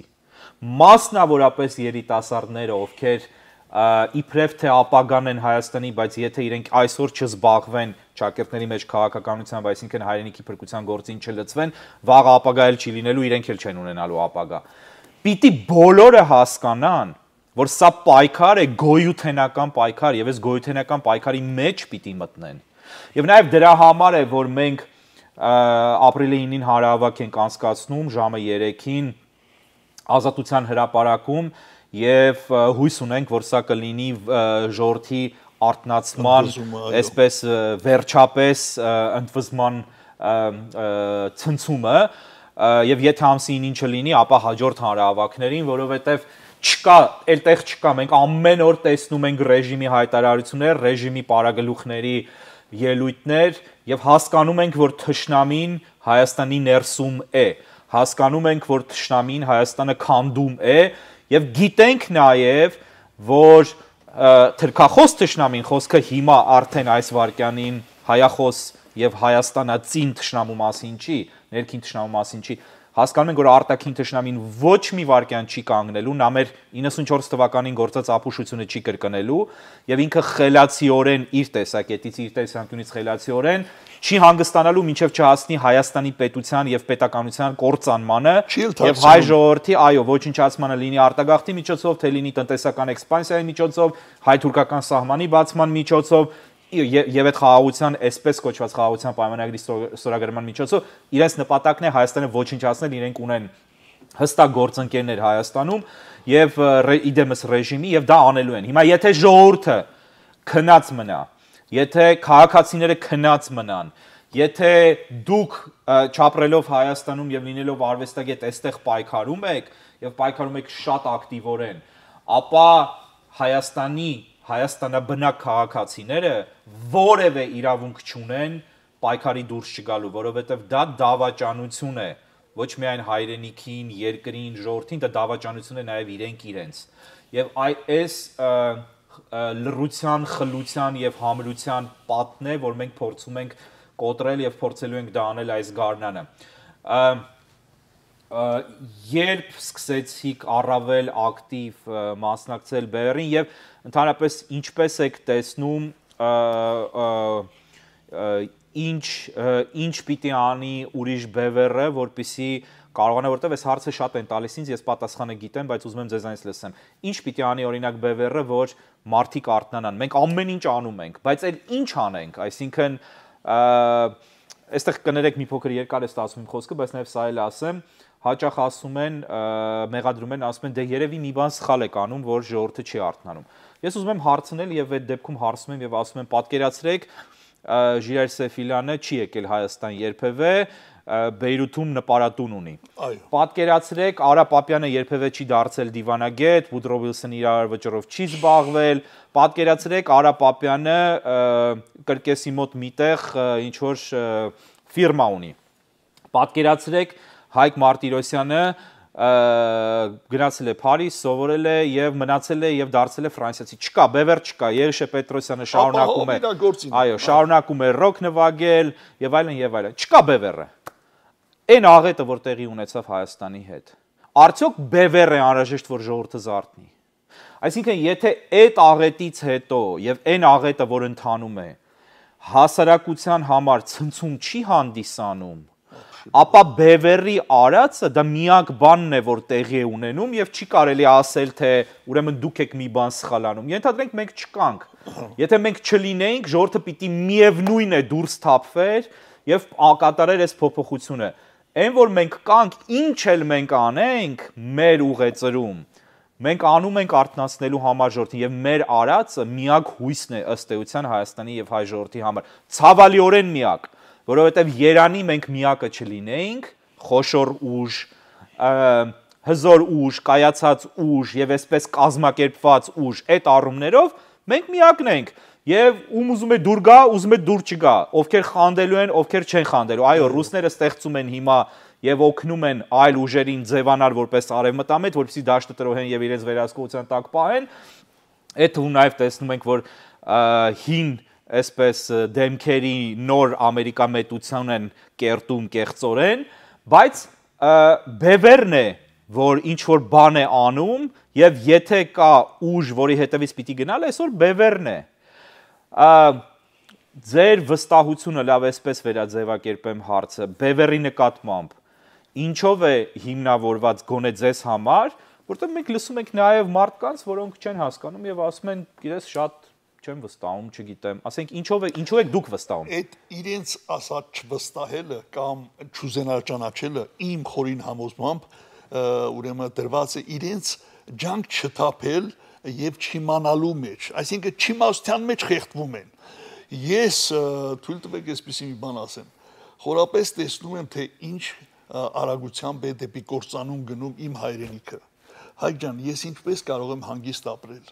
Speaker 1: մասնավորապես երիտասարդները, ովքեր իբրև թե ապագան են Հայաստանի, բայց եթե իրենք այսօր չզբաղվեն ճակերտների մեջ քաղաքականությամբ, այսինքն հայրենիքի փրկության գործին չլծվեն, վաղ ապագա էլ չի լինելու, իրենք էլ չեն ունենալու ապագա։ Պիտի բոլորը հասկանան, որ սա պայքար է, գոյութենական պայքար, եւ այս գոյութենական պայքարի մեջ պիտի մտնեն։ Եվ նաեւ դրա համար է, որ մենք ապրիլի 9-ին հանրահավաք ենք անցկացնում ժամը 3-ին Ազատության հրապարակում եւ հույս ունենք, որ սա կլինի ժողովրդի արտնացման, այսպես վերջապես ընդվզման ցնցումը եւ եթե ամսի 9-ին չլինի, ապա հաջորդ հանրահավաքներին, որովհետեւ չկա, այլտեղ չկա, մենք ամեն օր տեսնում ենք ռեժիմի հայտարարություններ, ռեժիմի պարագլուխների ելույթներ եւ հասկանում ենք, որ թշնամին Հայաստանի ներսում է, հասկանում ենք, որ թշնամին Հայաստանը քանդում է եւ գիտենք նաեւ, որ թրքախոս թշնամին խոսքը հիմա արդեն այս վարքյանին հայախոս եւ Հայաստանացին թշնամու մասին չի, ներքին թշնամու մասին չի, հասկանում ենք, որ արտաքին թշնամին ոչ մի վարքյան չի կանգնելու, նա մեր 94 թվականին գործած ապուշությունը չի կրկնելու եւ ինքը խելացիորեն իր տեսակետից, իր տեսանկյունից խելացիորեն չի հանգստանալու մինչև չհասնի Հայաստանի պետության եւ պետականության կործանմանը եւ հայ ժողովրդի, այո, ոչնչացմանը լինի արտագաղթի միջոցով, թե լինի տնտեսական էքսպանսիայի միջոցով, հայ-թուրքական սահմանի բացման միջոցով եւ այդ խաղաղության, այսպես կոչված խաղաղության պայմանագրի ստորագրման միջոցով իրենց նպատակն է Հայաստանը ոչնչացնել, իրենք ունեն հստակ գործընկերներ Հայաստանում եւ իդեմս ռեժիմի եւ դա անելու են։ Հիմա եթե ժողովուրդը քնած մնա, եթե քաղաքացիները քնած մնան, եթե դուք չապրելով Հայաստանում եւ լինելով արվեստագետ այստեղ պայքարում եք եւ պայքարում եք շատ ակտիվորեն, ապա Հայաստանաբնակ քաղաքացիները որևէ իրավունք չունեն պայքարի դուրս չգալու, որովհետև դա դավաճանություն է, ոչ միայն հայրենիքին, երկրին, ժողովրդին, դա դավաճանություն է նաև իրենք իրենց։ Եվ այս լռության, խլության եւ համրության պատն է, որ մենք փորձում ենք կոտրել եւ փորձելու ենք դա անել այս գարնանը։ Երբ սկսեցիք առավել ակտիվ մասնակցել բերին եւ ընդհանրապես ինչպես եք տեսնում ինչ պիտի անի ուրիշ բևեռը, որպեսզի կարողանա, որտեվ այս հարցը շատ են տալիս ինձ, ես պատասխանը գիտեմ, բայց ուզում եմ ձեզանից լսեմ։ Ինչ պիտի անի օրինակ բևեռը, որ մարդիկ արթնանան։ Մենք ամեն ինչ անում ենք, բայց այլ ինչ անենք, այսինքն այստեղ կներեք մի փոքր երկար է ստացվում իմ խոսքը, բայց նաև սա էլ ասեմ, հաճախ ասում են, մեղադրում են, ասում են, դե երևի մի բան սխալ եք անում, որ ժողովուրդը չի արթնանում։ Ես ուզում եմ հարցնել եւ այդ դեպքում հարցնում եմ եւ ասում եմ, պատկերացրեք, Ժիրայր Սեֆիլյանը չի եկել Հայաստան երբևէ, Բեյրութում նպարատուն ունի։ Պատկերացրեք, Արա Պապյանը երբևէ չի դարձել դիվանագետ, Վուդրո Վիլսոնը իրար վճռով չի զբաղվել, պատկերացրեք, Արա Պապյանը կրկեսի մոտ միտեղ ինչ որ ֆիրմա ունի։ Պատկերացրեք, Հայկ Մարտիրոսյանը գնացել է Փարիզ, սովորել է եւ մնացել է եւ դարձել է ֆրանսիացի։ Չկա, բևեռ չկա, Երիշե Պետրոսյանը շարունակում է, այո, շարունակում է ռոք նվագել եւ այլն եւ այլն։ Չկա բևեռը։ Այն աղետը, որ տեղի ունեցավ Հայաստանի հետ։ Արդյոք բևեռ է անհրաժեշտ, որ ժողովուրդը զարթնի։ Այսինքն, եթե այդ աղետից հետո եւ այն աղետը, որ ընթանում է, հասարակության համար ցնցում չի հանդիսանում, ապա բևեռի արածը դա միակ բանն է, որ տեղի է ունենում եւ չի կարելի ասել թե ուրեմն դուք եք մի բան սխալանում։ Ենթադրենք մենք չկանք։ Եթե մենք չլինեինք, ժողովուրդը պիտի միևնույն է դուրս թափվեր եւ կատարեր այս փոփոխությունը։ Այն որ մենք կանք, ինչ էլ մենք անենք մեր ուղեծրում, մենք անում ենք արթնացնելու համար ժողովրդին եւ մեր արածը միակ հույսն է ըստ էության Հայաստանի եւ հայ ժողովրդի համար։ Ցավալիորեն միակ, որովհետեւ Երանի մենք միակը չլինեինք, խոշոր ուժ, հզոր ուժ, կայացած ուժ եւ այսպես կազմակերպված ուժ, այդ առումներով մենք միակն ենք եւ ում ուզում է դուր գա, ուզում է դուր չգա, ովքեր խանդելու են, ովքեր չեն խանդելու։ Այո, ռուսները ստեղծում են հիմա եւ օգնում են այլ ուժերին ձևանալ որպես արևմտամետ, որպեսզի դաշտը տրոհեն եւ իրենց վերահսկողության տակ պահեն։ Այդ ու նաեւ տեսնում ենք, որ հին այսպես դեմքերի նոր ամերիկամետություն են կերտում կեղծորեն, բայց բևերն է, որ ինչ որ բան է անում եւ եթե կա ուժ, որի հետևից պիտի գնալ, այսօր բևերն է։ Ձեր վստահությունը լավ այսպես վերաձևակերպեմ հարցը, բևերի նկատմամբ, ինչով է հիմնավորված գոնե ձեզ համար, որտեղ մենք լսում ենք նաև մարդկանց, որոնք չեն հասկանում եւ ասում են, գիտես, շատ չեմ վստահում, չգիտեմ, ասենք ինչով եք դուք վստահում։
Speaker 2: Այդ իրենց ասած չվստահելը կամ չուզենալ ճանաչելը իմ խորին համոզմամբ ուրեմն դրված է իրենց ջանք չթափել եւ չիմանալու մեջ, այսինքն չիմաստության մեջ խեղդվում են։ Ես թույլ տվեք այսպեսի մի բան ասեմ, խորապես տեսնում եմ, թե ինչ արագությամբ է դեպի կործանում գնում իմ հայրենիքը։ Հայկ ջան, ես ինչպես կարող եմ հանգիստ ապրել։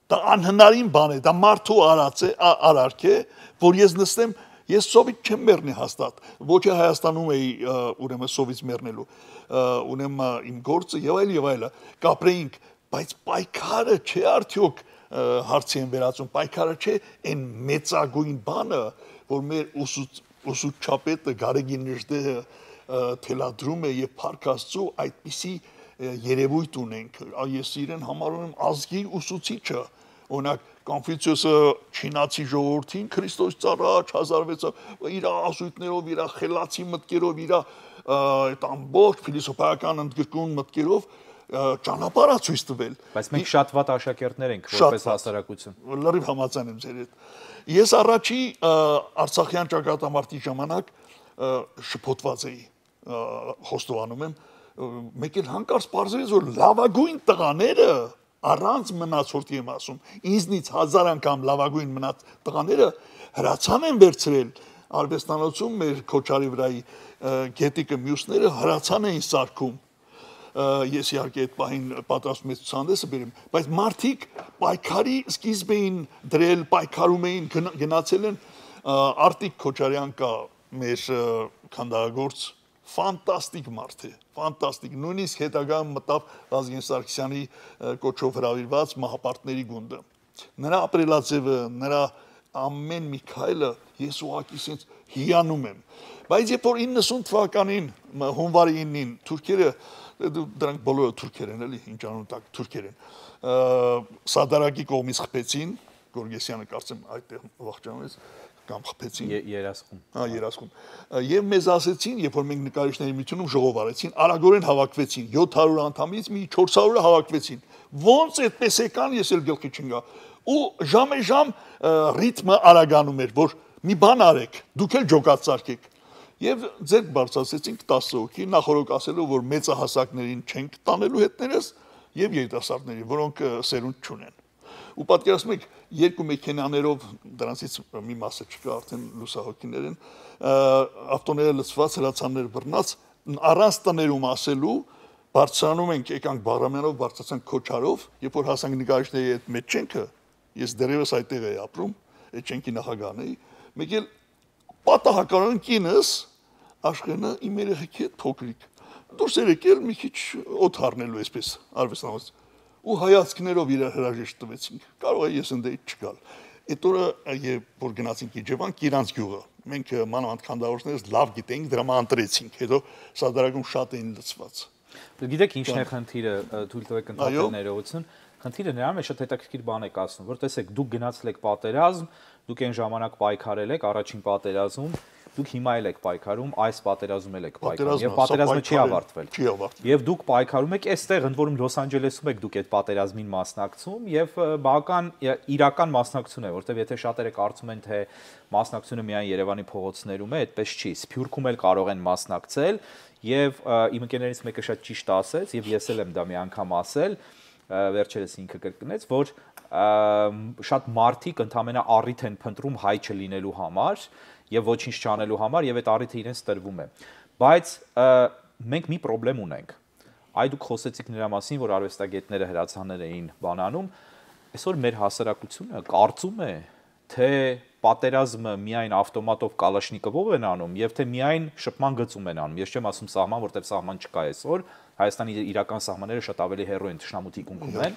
Speaker 2: Դա անհնարին բան է, դա մարդու արարք է, որ ես նստեմ, ես սովից չեմ մեռնի հաստատ, ոչ է Հայաստանում էի ուրեմն սովից մեռնելու, ուրեմն իմ գործը եւ այլը, կապրեինք, բայց պայքարը չէ արդյոք հարցի են վերածում, պայքարը չէ այն մեծագույն բանը, որ մեր ուսուցչապետը Գարեգին Նժդեհը թելադրում է եւ Փառք Աստծո այդպիսի երևույթ ունենք, ես իրեն համարում եմ ազգի ուսուցիչը, օրինակ Կոնֆուցիոսը չինացի ժողովրդին Քրիստոս առաջ 1600 իր ասույթներով, իր խելացի մտքերով, իր այդ ամբողջ փիլիսոփայական ընդգրկուն մտքերով ճանապարհ ցույց տվել։
Speaker 1: Բայց մենք շատ վատ աշակերտներ ենք որպես հասարակություն։
Speaker 2: Լրիվ համաձայն եմ ձեր հետ։ Ես առաջի Արցախյան ճակատամարտի ժամանակ շփոթված էի, խոստովանում եմ, մեկ էլ հանկարծ պարզվեց, որ լավագույն տղաները առանց մնացորդի եմ ասում, ինձնից 1000 անգամ լավագույն մնաց տղաները հրացան են վերցրել արվեստանոցում մեր Քոչարի վրայի գետիկը մյուսները հրացան էին սարքում։ Ես իհարկե այդ պահին պատրաստում եմ ցուցահանդեսը բերեմ, բայց մարդիկ պայքարի սկիզբ էին դրել, պայքարում էին, գնացել են Արտիկ Քոչարյան կա մեր քանդակագործ ֆանտաստիկ մարդ է, ֆանտաստիկ, նույնիսկ հետագայում մտավ Վազգեն Սարգսյանի կոչով հրավիրված մահապարտների գունդը։ Նրա ապրելաձևը, նրա ամեն մի քայլը ես ուղղակի sense հիանում եմ։ Բայց երբ որ 90 թվականին հունվարի 9-ին թուրքերը դրանք բոլորը թուրքեր են, էլի, ինչ անուն տակ թուրքեր են։ Սադարակի կողմից խփեցին, Գորգեսյանը կարծեմ այդտեղ վախճանվեց կամ խփեցին
Speaker 1: երասխում։
Speaker 2: Երասխում։ Եվ մեզ ասեցին, երբ որ մենք նկարիչների միությունում ժողով արեցին, արագորեն հավաքվեցին, 700 անդամից մի 400-ը հավաքվեցին։ Ոնց այդպես եկան, ես էլ գլխի չընկա։ Ու ժամե-ժամ ռիթմը արագանում էր, որ մի բան արեք, դուք էլ ջոկատ սարքեք։ Եվ ձեր բարձրացեցինք 10 հոգի, նախորդ ասելով, որ մեծահասակներին չենք տանելու հետներս եւ երիտասարդների, որոնք սերունդ չունեն։ Ու պատկերացնում եք, երկու մեքենաներով դրանցից մի մասը չկա, արդեն լուսահոգիներ են, ավտոները լցված, հրացաններ բռնած, առանց տներում ասելու, բարձրանում ենք, եկանք Բաղրամյանով, բարձրացանք Քոչարով, երբ որ հասանք նկարիչների այդ մեծ չենքը, ես դեռևս այդտեղ էի ապրում, այդ չենքի նախագահն էի, մեկ էլ պատահականորեն կինս Աշխենը իմ երեխեքի հետ փոքրիկ դուրս էր եկել մի քիչ օդ առնելու այսպես արվեստանոց ու հայացքներով իր հրաժեշտ տվեցինք կարող է ես ընդդեմ չգալ այդ օրը երբ որ գնացինք Իջևան Կիրանց գյուղը մենք մանավանդ քանդավորներս լավ գիտենք դրամա ընտրեցինք հետո սադարակում շատ էին լցված
Speaker 1: գիտեք ինչն է խնդիրը թույլ տվեք ընդհանուր ներողություն խնդիրը նրան է շատ հետաքրքիր բան եք ասում որ տեսեք դուք գնացել եք պատերազմ դուք այն ժամանակ պայքարել եք առաջին պատերազմում դուք հիմա էլ եք պայքարում, այս պատերազմում էլ եք պայքարում, եւ պատերազմը չի ավարտվել։ Եվ դուք պայքարում եք այստեղ, ընդ որում Լոս Անջելեսում եք դուք այդ պատերազմին մասնակցում եւ բավական իրական մասնակցություն է, որտեվ եթե շատերը կարծում են թե մասնակցությունը միայն Երևանի փողոցներում է, այդպես չի։ Սփյուռքում էլ կարող են մասնակցել եւ իմ ընկերներից մեկը շատ ճիշտ ասեց եւ ես էլ եմ դա մի անգամ ասել, վերջերս ինքը կրկնեց, որ շատ մարդիկ ընդամենը առիթ են փնտրում հայ չլինելու համար եւ ոչինչ չանելու համար եւ այդ առիթը իրենց տրվում է։ Բայց մենք մի խնդրեմ ունենք։ Այ դուք խոսեցիք նրա մասին, որ արվեստագետները հրացաներ էին բանանում, այսօր մեր հասարակությունը կարծում է, թե պատերազմը միայն ավտոմատով կալաշնիկովով են անում եւ թե միայն շփման գծում են անում։ Ես չեմ ասում սահման, որտեղ սահման չկա այսօր, Հայաստանի իրական սահմանները շատ ավելի հեռու են թշնամու թիկունքում են,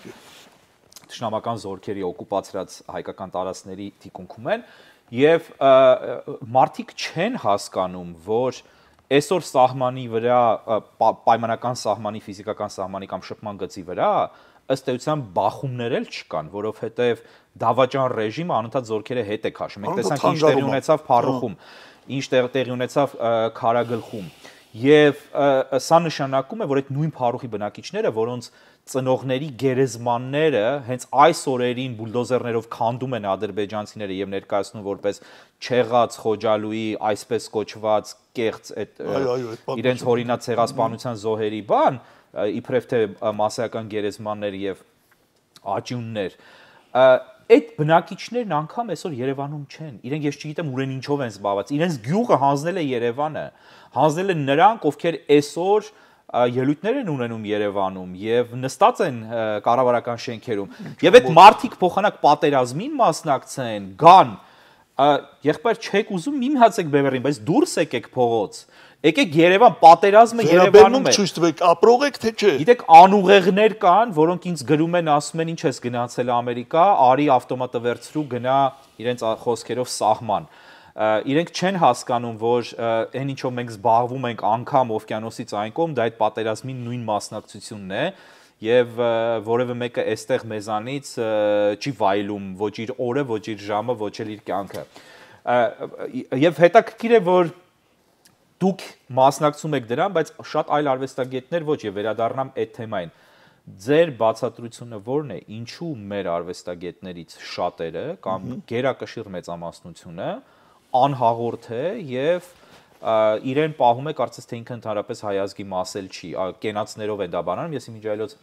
Speaker 1: թշնամական զորքերի օկուպացրած հայկական տարածքների թիկունքում են եւ մարդիկ չեն հասկանում, որ այսօր սահմանի վրա պայմանական սահմանի, ֆիզիկական սահմանի կամ շփման գծի վրա ըստ էության բախումներ էլ չկան, որովհետեւ դավաճան ռեժիմը անընդհատ զորքերը հետ է քաշում։ Մենք տեսանք ինչ տեղի ունեցավ Փառուխում, ինչ տեղի ունեցավ Քարագլխում։ Եվ սա նշանակում է, որ այդ նույն Փառուխի բնակիչները, որոնց ծնողների գերեզմանները հենց այս օրերին բուլդոզերներով քանդում են ադրբեջանցիները եւ ներկայացնում որպես չեղած Խոջալուի այսպես կոչված կեղծ այդ իրենց հորինած ցեղասպանության զոհերի բան, իբրև թե մասսայական գերեզմաններ եւ աճյուններ, այդ բնակիչներն անգամ այսօր Երևանում չեն։ Իրենք ես չգիտեմ ուր են ինչով են զբաղված։ Իրենց գյուղը հանձնել է Երևանը, հանձնել են նրանք, ովքեր այսօր ելույթներ են ունենում Երևանում եւ նստած են կառավարական շենքերում։ Եվ այդ մարդիկ փոխանակ պատերազմին մասնակցեն, գան, եղբայր չեք ուզում մի հացեք բևեռին, բայց դուրս եկեք փողոց։ Եկեք Երևան, պատերազմը Երևանում է։
Speaker 2: Ցույց տվեք, ապրող եք թե չէ։
Speaker 1: Գիտեք, անուղեղներ կան, որոնք ինձ գրում են, ասում են, ինչ ես գնացել Ամերիկա, արի ավտոմատը վերցրու, գնա իրենց խոսքերով սահման։ Իրենք չեն հասկանում, որ այն ինչով մենք զբաղվում ենք անգամ օվկիանոսից այն կողմ, դա այդ պատերազմի նույն մասնակցությունն է, եւ որևէ մեկը այստեղ մեզանից չի վայելում ոչ իր օրը, ոչ իր ժամը, ոչ էլ իր կյանքը։ Եվ հետաքրքիր է, որ դուք մասնակցում եք դրան, բայց շատ այլ արվեստագետներ ոչ, եւ վերադառնամ այդ թեմային։ Ձեր բացատրությունը ո՞րն է, ինչու մեր արվեստագետներից շատերը կամ գերակշիռ մեծամասնությունը անհաղորդ է եւ իրեն պահում է, կարծես թե ինքը ընդհանրապես հայ ազգի մասել չի, կենացներով է դա բանանում։ Ես իմիջայլոց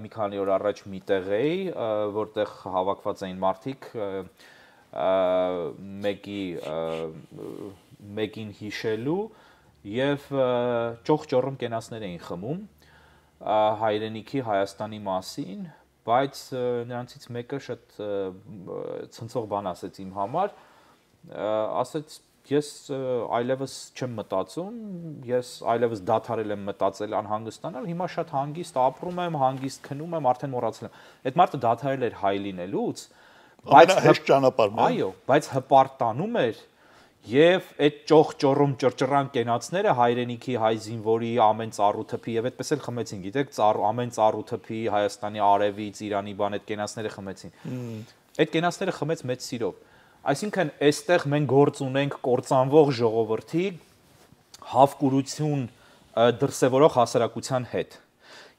Speaker 1: մի քանի օր առաջ միտեղ էի, որտեղ հավաքված էին մարդիկ, մեկին հիշելու եւ ճոխճոռում կենացներ էին խմում հայրենիքի Հայաստանի մասին, բայց նրանցից մեկը շատ ցնցող բան ասեց իմ համար, ասեց ես այլևս չեմ մտածում, ես այլևս դադարել եմ մտածել անհանգստանալ, հիմա շատ հանգիստ ապրում եմ, հանգիստ քնում եմ, արդեն մոռացել եմ։ Այդ մարդը դադարել էր հայ լինելուց,
Speaker 2: բայց հեշտ ճանապարհն է։
Speaker 1: Այո, բայց հպարտանում էր եւ այդ ճոխճոռում ճռճռան կենացները հայրենիքի հայ զինվորի ամեն ծառու թփի եւ այդպես էլ խմեցին, գիտեք, ամեն ծառու թփի Հայաստանի արևից, Իրանի բան այդ կենացները խմեցին։ Այդ կենացները խմեց մեծ սիրով։ Այսինքն այստեղ մենք գործ ունենք կործանվող ժողովրդի հավկուրություն դրսևորող հասարակության հետ։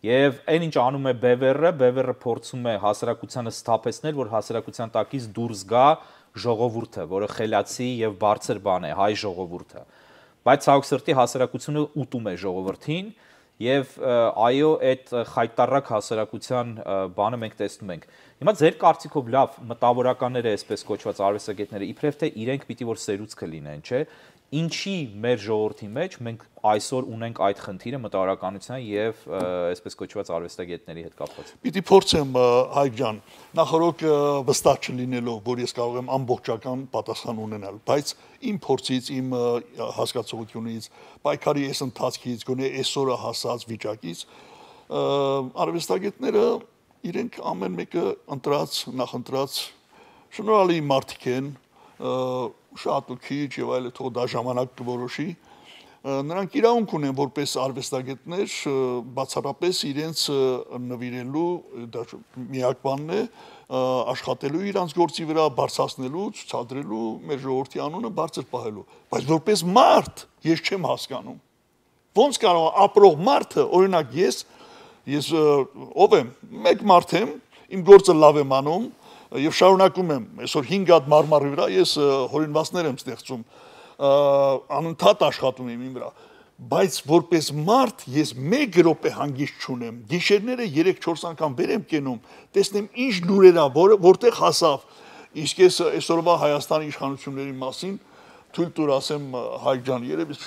Speaker 1: Եվ այն ինչ անում է Բևերը փորձում է հասարակությանը սթափեցնել, որ հասարակության տակից դուրս գա ժողովուրդը, որը խելացի եւ բարձր բան է, հայ ժողովուրդը։ Բայց ցավոք սրտի հասարակությունը ուտում է ժողովրդին եւ այո, այդ խայտարակ հասարակության բանը մենք տեսնում ենք։ Հիմա ձեր կարծիքով լավ մտավորականները, այսպես կոչված արվեստագետները, իբրև թե իրենք պիտի որ սերուցքը լինեն, չէ՞։ Ինչի մեր ժողովրդի մեջ մենք այսօր ունենք այդ խնդիրը մտավորականության եւ այսպես կոչված արվեստագետների հետ կապված։
Speaker 2: Պիտի փորձեմ Հայկ ջան, նախորդ վստահ չլինելով, որ ես կարող եմ ամբողջական պատասխան ունենալ, բայց իմ փորձից, իմ հասկացողությունից, պայքարի այս ընթացքից, գոնե այսօրը հասած վիճակից, արվեստագետները իրենք ամեն մեկը նախընտրած շնորհալի մարդիկ են, շատ ու քիչ եւ այլ թող դա ժամանակ կորոշի, նրանք իրավունք ունեն որպես արվեստագետներ բացառապես իրենց նվիրելու դա միակ բանն է աշխատելու իրանց գործի վրա բարձրացնելու, ցուցադրելու մեր ժողովրդի անունը բարձր պահելու, բայց որպես մարդ ես չեմ հասկանում ոնց կարող է ապրող մարդը օրինակ ես ով եմ մեկ մարդ եմ իմ գործը լավ եմ անում եւ շարունակում եմ այսօր 5 հատ մարմարի վրա ես հորինվածներ եմ ստեղծում անընդհատ աշխատում եմ իմ վրա բայց որպես մարդ ես 1 րոպե հանգիստ չունեմ գիշերները 3-4 անգամ վեր եմ կենում տեսնեմ ինչ լուրեր ա որտեղ հասավ իսկ ես այսօրվա Հայաստանի իշխանությունների մասին թույլ տուր ասեմ Հայկ ջան երևի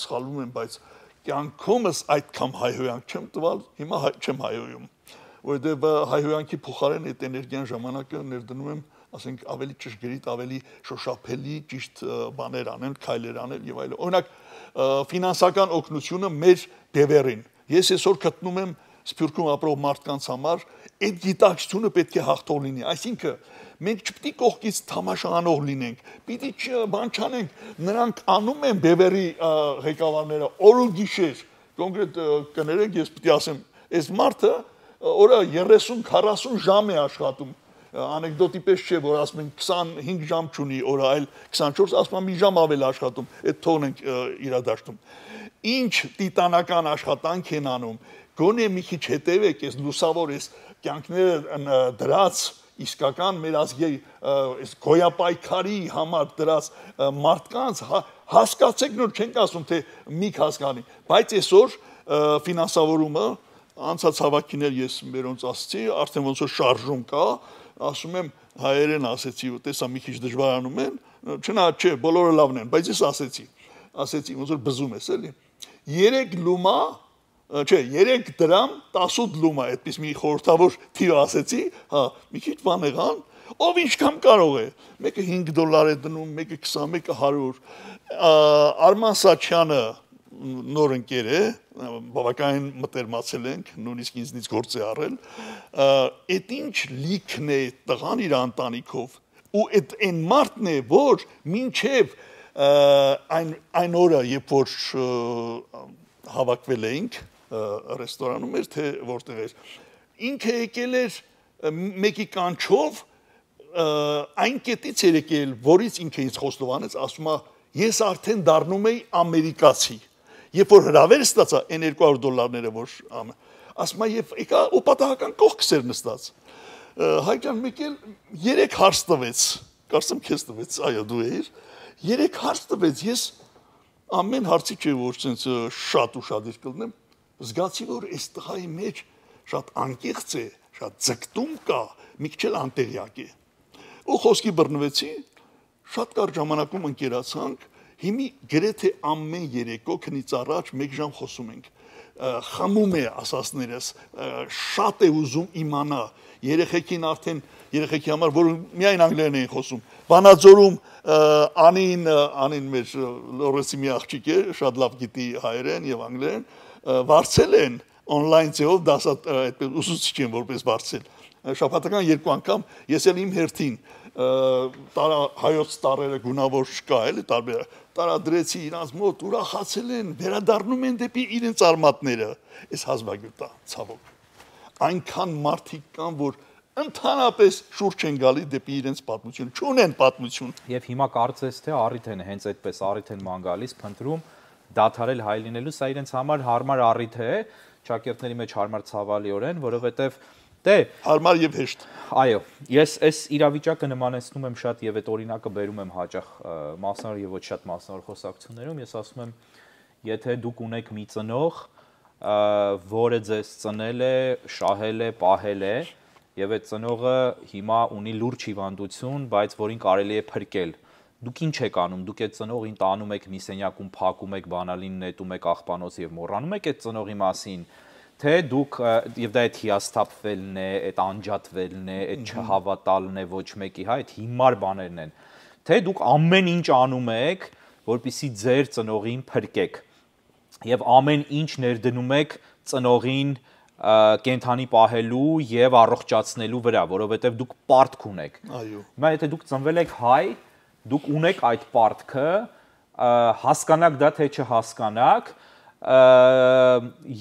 Speaker 2: սխալվում եմ բայց կյանքումս այդքան հայհոյանք չեմ տվել հիմա չեմ հայհոյում որովհետև հայհոյանքի փոխարեն այդ էներգիան ժամանակը ներդնում եմ ասենք ավելի ճշգրիտ ավելի շոշափելի ճիշտ բաներ անել քայլեր անել եւ այլն օրինակ ֆինանսական օգնությունը մեր դևերին ես այսօր գտնում եմ Սփյուռքում ապրող մարդկանց համար այդ գիտակցությունը պետք է հաղթող լինի այսինքն մենք չպետք է կողքից թամաշանող լինենք պիտի բան չանենք նրանք անում են դևերի ղեկավարները օր ու գիշեր կոնկրետ կներեք ես պիտի ասեմ այս մարդը օրը 30-40 ժամ է աշխատում անեկդոտի պես չէ որ ասում են 25 ժամ չունի օրը այլ 24 ասում են մի ժամ ավել աշխատում այդ թողն ենք իրադարձում ինչ տիտանական աշխատանք են անում գոնե մի քիչ հետևեք այս լուսավոր այս կյանքները դրած իսկական մեր ազգի այս գոյապայքարի համար դրած մարդկանց հասկացեք նոր չենք ասում թե միք հասկանի բայց այսօր ֆինանսավորումը անցած հավաքիներ ես մերոնց ասացի արդեն ոնց որ շարժում կա ասում եմ հայերեն ասեցի տեսա մի քիչ դժվարանում են չնայած չէ բոլորը լավն են բայց ես ասեցի ոնց որ բզում ես էլի 3 լումա չէ 3 դրամ 18 լումա այդպես մի խորհրդավոր թիվ ասեցի հա մի քիչ բան եղան ով ինչքան կարող է մեկը $5 է դնում մեկը 20 մեկը 100 Արման Սաչյանը նոր ընկեր է բավականին մտերմացել ենք նույնիսկ ինձնից գործ է առել այդ ինչ լիքն է տղան իր ընտանիքով ու այդ այն մարդն է որ մինչև այն օրը երբ որ հավաքվել էինք ռեստորանում էր թե որտեղ էր ինքը եկել էր մեկի կանչով այն կետից էր եկել որից ինքը ինձ խոստովանեց ասում է ես արդեն դառնում եի ամերիկացի Երբ որ հրավեր ստացա այն $200 որ ասում եմ եկա ու պատահական կողքս էր նստած Հայկ ջան մեկ էլ 3 հարց տվեց կարծեմ քեզ տվեց այո դու էիր 3 հարց տվեց ես ամեն հարցի չէ որ ցենց շատ ուշադիր կլնեմ զգացի որ այս տղայի մեջ շատ անկեղծ է շատ ձգտում կա մի քիչ էլ անտեղյակ է ու խոսքի բռնվեցի շատ կարճ ժամանակում ընկերացանք Հիմի գրեթե ամեն երեկո քնից առաջ 1 ժամ խոսում ենք խմում է ասածներս շատ է ուզում իմանա երեխեքին արդեն երեխեքի համար որ միայն անգլերեն էին խոսում Վանաձորում անին մեր լորեսի մի աղջիկ է շատ լավ գիտի հայերեն եւ անգլերեն վարձել են on-line ձևով դասա այդպես ուսուցիչ են որպես վարձել շաբաթական 2 անգամ ես էլ իմ հերթին հայոց տարերը գունավոր չկա էլի տարբեր տարադրեցի իրանց մոտ ուրախացել են վերադառնում են դեպի իրենց արմատները այս հազվագյուտ է ցավոք այնքան մարդիկ կան որ ընդհանրապես շուրջ են գալի դեպի իրենց պատմություն չունեն պատմություն
Speaker 1: եւ հիմա կարծես թե առիթ են հենց այդպես առիթ են ման գալիս փնտրում դադարել հայ լինելու սա իրենց համար հարմար առիթ է ճակերտների մեջ հարմար ցավալիորեն որովհետեւ Դե
Speaker 2: հարմար եւ հեշտ
Speaker 1: Այո ես այս իրավիճակը նմանեցնում եմ շատ եւ այդ օրինակը բերում եմ հաճախ մասնավոր եւ ոչ շատ մասնավոր խոսակցություններում ես ասում եմ եթե դուք ունեք մի ծնող որը ձեզ ծնել է շահել է պահել է եւ այդ ծնողը հիմա ունի լուրջ հիվանդություն բայց որին կարելի է փրկել դուք ինչ եք անում դուք այդ ծնողին տանում եք մի սենյակում փակում եք բանալին նետում եք աղբանոց եւ մոռանում եք այդ ծնողի մասին Թե դուք եւ դա այդ հիասթափվելն է, այդ անջատվելն է, այդ չհավատալն է ոչ մեկի, հա, այդ հիմար բաներն են։ Թե դուք ամեն ինչ անում եք, որպեսզի ձեր ծնողին փրկեք։ Եվ ամեն ինչ ներդնում եք ծնողին կենթանի պահելու եւ առողջացնելու վրա, որովհետեւ դուք պարտք ունեք։
Speaker 2: Այո։
Speaker 1: Հիմա եթե դուք ծնվել եք հայ, դուք ունեք այդ պարտքը հասկանաք դա թե չհասկանաք,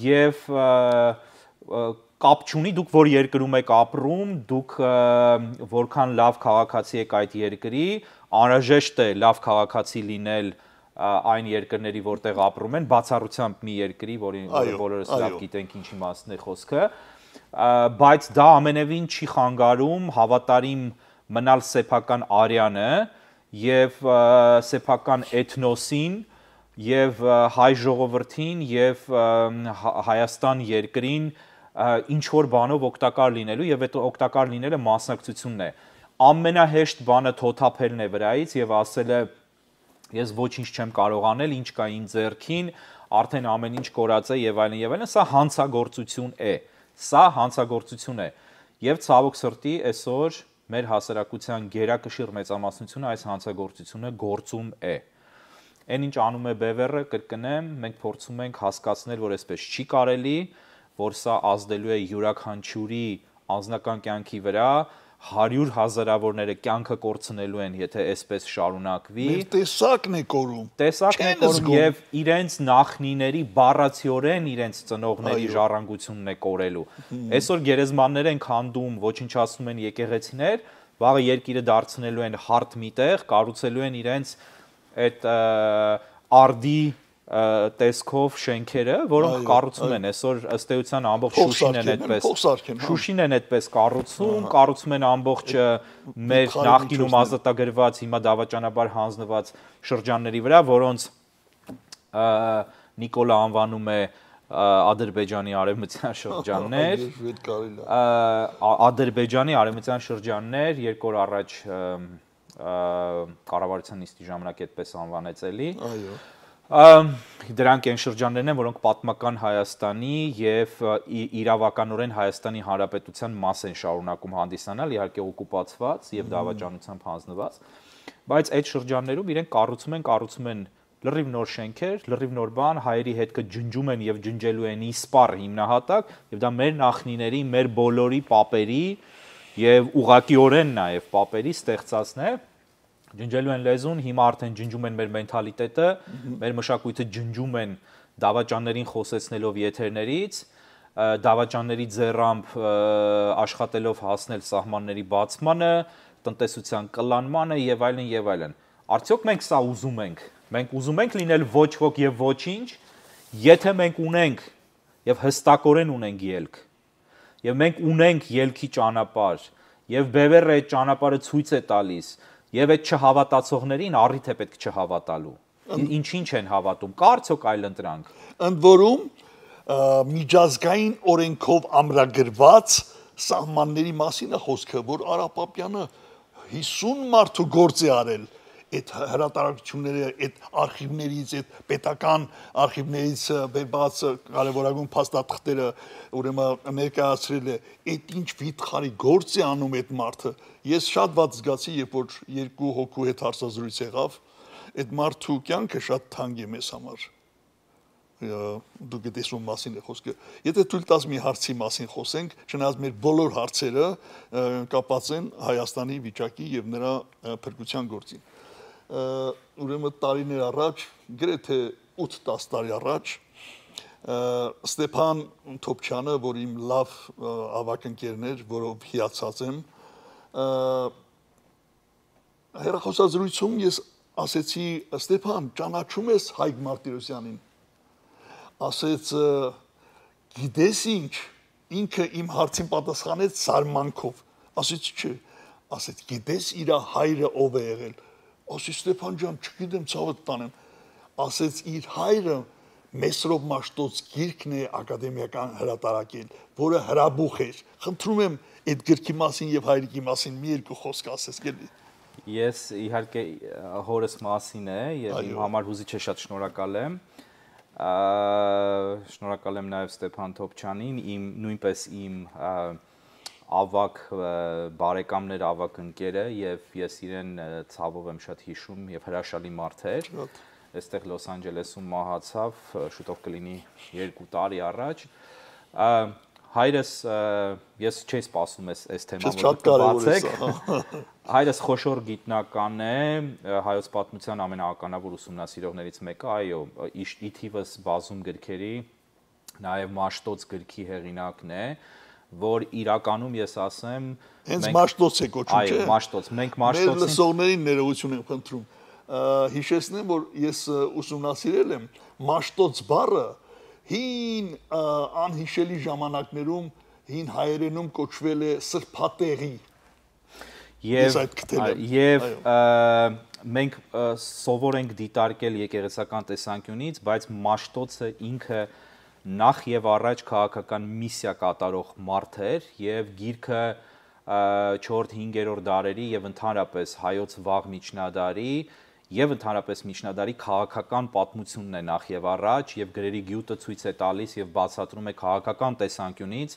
Speaker 1: եւ կապ չունի դուք որ երկրում եք ապրում, դուք որքան լավ քաղաքացի եք այդ երկրի, անհրաժեշտ է լավ քաղաքացի լինել այն երկրների, որտեղ ապրում են, բացառությամբ մի երկրի, որը բոլորս լավ գիտենք ինչի մասն է խոսքը, բայց դա ամենևին չի խանգարում հավատարիմ մնալ սեփական արյանը եւ սեփական էթնոսին եւ հայ ժողովրդին եւ Հայաստան երկրին ինչ որ բանով օգտակար լինելու եւ այդ օգտակար լինելը մասնակցությունն է։ Ամենահեշտ բանը թոթափելն է վրայից եւ ասելը ես ոչինչ չեմ կարող անել, ինչ կա իմ ձեռքին, արդեն ամեն ինչ կորած է եւ այլն եւ այլն, սա հանցագործություն է։ Սա հանցագործություն է։ Եվ ցավոք սրտի այսօր մեր հասարակության գերակշիռ մեծամասնությունը այս հանցագործությունը գործում է։ Այն ինչ անում է Բևերը, կրկնեմ, մենք փորձում ենք հասկացնել, որ այսպես չի կարելի, որ սա ազդելու է յուրաքանչյուրի անձնական կյանքի վրա, 100 հազարավորները կյանքը կորցնելու են, եթե այսպես շարունակվի։
Speaker 2: Մեր տեսակն է կորում։
Speaker 1: Տեսակն է կորում եւ իրենց նախնիների բառացիորեն իրենց ծնողների ժառանգությունն է կորելու։ Այսօր գերեզմաններ են քանդում, ոչնչացնում են եկեղեցիներ, վաղը երկիրը դարձնելու են հարթ միտեղ, կառուցելու են իրենց այդ արդի տեսքով շենքերը, որոնք կառուցում են այսօր ըստ էության ամբողջ Շուշին են այդպես։ Շուշին են այդպես կառուցում են ամբողջ մեր նախկինում ազատագրված, հիմա դավաճանաբար հանձնված շրջանների վրա, որոնց Նիկոլա անվանում է Ադրբեջանի արևմտյան շրջաններ, Ադրբեջանի արևմտյան շրջաններ, 2 օր առաջ կառավարության նիստի ժամանակ այդպես անվանեց էլի։ Դրանք այն շրջաններն են, որոնք պատմական Հայաստանի եւ իրավականորեն Հայաստանի Հանրապետության մաս են շարունակում հանդիսանալ, իհարկե օկուպացված եւ դավաճանությամբ հանձնված, բայց այդ շրջաններում իրենք կառուցում են լրիվ նոր շենքեր, լրիվ նոր բան, հայերի հետքը ջնջում են եւ ջնջելու են իսպառ հիմնահատակ, եւ դա մեր նախնիների, մեր բոլորի պապերի եւ ուղղակիորեն նաեւ պապերի ստեղծածն է, ջնջելու են լեզուն, հիմա արդեն ջնջում են մեր մենթալիտետը, մեր մշակույթը ջնջում են դավաճաններին խոսեցնելով եթերներից, դավաճանների ձեռամբ աշխատելով հասնել սահմանների բացմանը, տնտեսության կլանմանը եւ այլն եւ այլն։ Արդյոք մենք սա ուզում ենք։ Մենք ուզում ենք լինել ոչ ոք եւ ոչինչ, եթե մենք ունենք եւ հստակորեն ունենք ելք։ Եվ մենք ունենք ելքի ճանապարհ, եւ Բևերը այդ ճանապարհը ցույց է տալիս, եւ այդ չհավատացողներին առիթ է պետք չհավատալու։ Ինչ են հավատում, կա արդյոք այլ ընտրանք։
Speaker 2: Ընդ որում միջազգային օրենքով ամրագրված սահմանների մասին է խոսքը, որ Արա Պապյանը 50 մարդու գործ է արել այդ հրատարակությունները, այդ արխիվներից, այդ պետական արխիվներից բերված կարևորագույն փաստաթղթերը, ուրեմն ներկայացրել է, այդ ինչ վիթխարի գործ է անում այդ մարդը։ Ես շատ ված զգացի, երբ որ 2 հոգու հետ հարցազրույց եղավ, այդ մարդու կյանքը շատ թանկ է մեզ համար։ Դուք տեսնում մասին է խոսքը։ Եթե թույլ տաս մի հարցի մասին խոսենք, չնայած մեր բոլոր հարցերը կապված են Հայաստանի վիճակի եւ նրա փրկության գործին։ Ուրեմն տարիներ առաջ, գրեթե 8-10 տարի առաջ, Ստեփան Թոփչյանը, որ իմ լավ ավակ ընկերն էր, որով հիացած եմ, հեռախոսազրույցում ես ասեցի, Ստեփան, ճանաչում ես Հայկ Մարտիրոսյանին։ Ասեց, գիտես ինչ, ինքը իմ հարցին պատասխանեց զարմանքով։ Ասեց, չէ, ասեց, գիտես իր հայրը ով է եղել։ Ասեց, Ստեփան ջան, չգիտեմ, ցավդ տանեմ։ Ասեց, իր հայրը Մեսրոպ Մաշտոց գիրքն է ակադեմիական հրատարակել, որը հրաբուխ էր։ Խնդրում եմ այդ գրքի մասին եւ հայրիկի մասին մի երկու խոսք ասես գելի։
Speaker 1: Ես իհարկե հորս մասին է եւ իմ համար հուզիչ է, շատ շնորհակալ եմ։ Շնորհակալ եմ նաեւ Ստեփան Թոփչյանին, նույնպես իմ ավակ բարեկամներ, ավակ ընկերը եւ ես իրեն ցավով եմ շատ հիշում եւ հրաշալի մարդ էր։ Այստեղ Լոս Անջելեսում մահացավ, շուտով կլինի 2 տարի առաջ։ հայրս ես չի սպասում այս թեման,
Speaker 2: որ բացեք։
Speaker 1: Հայրս խոշոր գիտնական է, հայոց պատմության ամենաականավոր ուսումնասիրողներից մեկը, այո, ի թիվս բազում գրքերի, նաև Մաշտոց գրքի հեղինակն է, որ իրականում ես ասեմ,
Speaker 2: հենց Մաշտոց է կոչում, չէ՞։
Speaker 1: Այո, Մաշտոց, մենք Մաշտոցին
Speaker 2: մեր լսողներին ներողություն եմ խնդրում։ Հիշեցնեմ, որ ես ուսումնասիրել եմ Մաշտոց բառը հին անհիշելի ժամանակներում հին հայերենում կոչվել է սրբատեղի։
Speaker 1: Եվ մենք սովոր ենք դիտարկել եկեղեցական տեսանկյունից, բայց Մաշտոցը ինքը նախ եւ առաջ քաղաքական միսիա կատարող մարդ էր եւ գիրքը 4-5-րդ դարերի եւ ընդհանրապես հայոց վաղ միջնադարի եւ ընդհանրապես միջնադարի քաղաքական պատմությունն է նախ եւ առաջ եւ գրերի գյուտը ցույց է տալիս եւ բացատրում է քաղաքական տեսանկյունից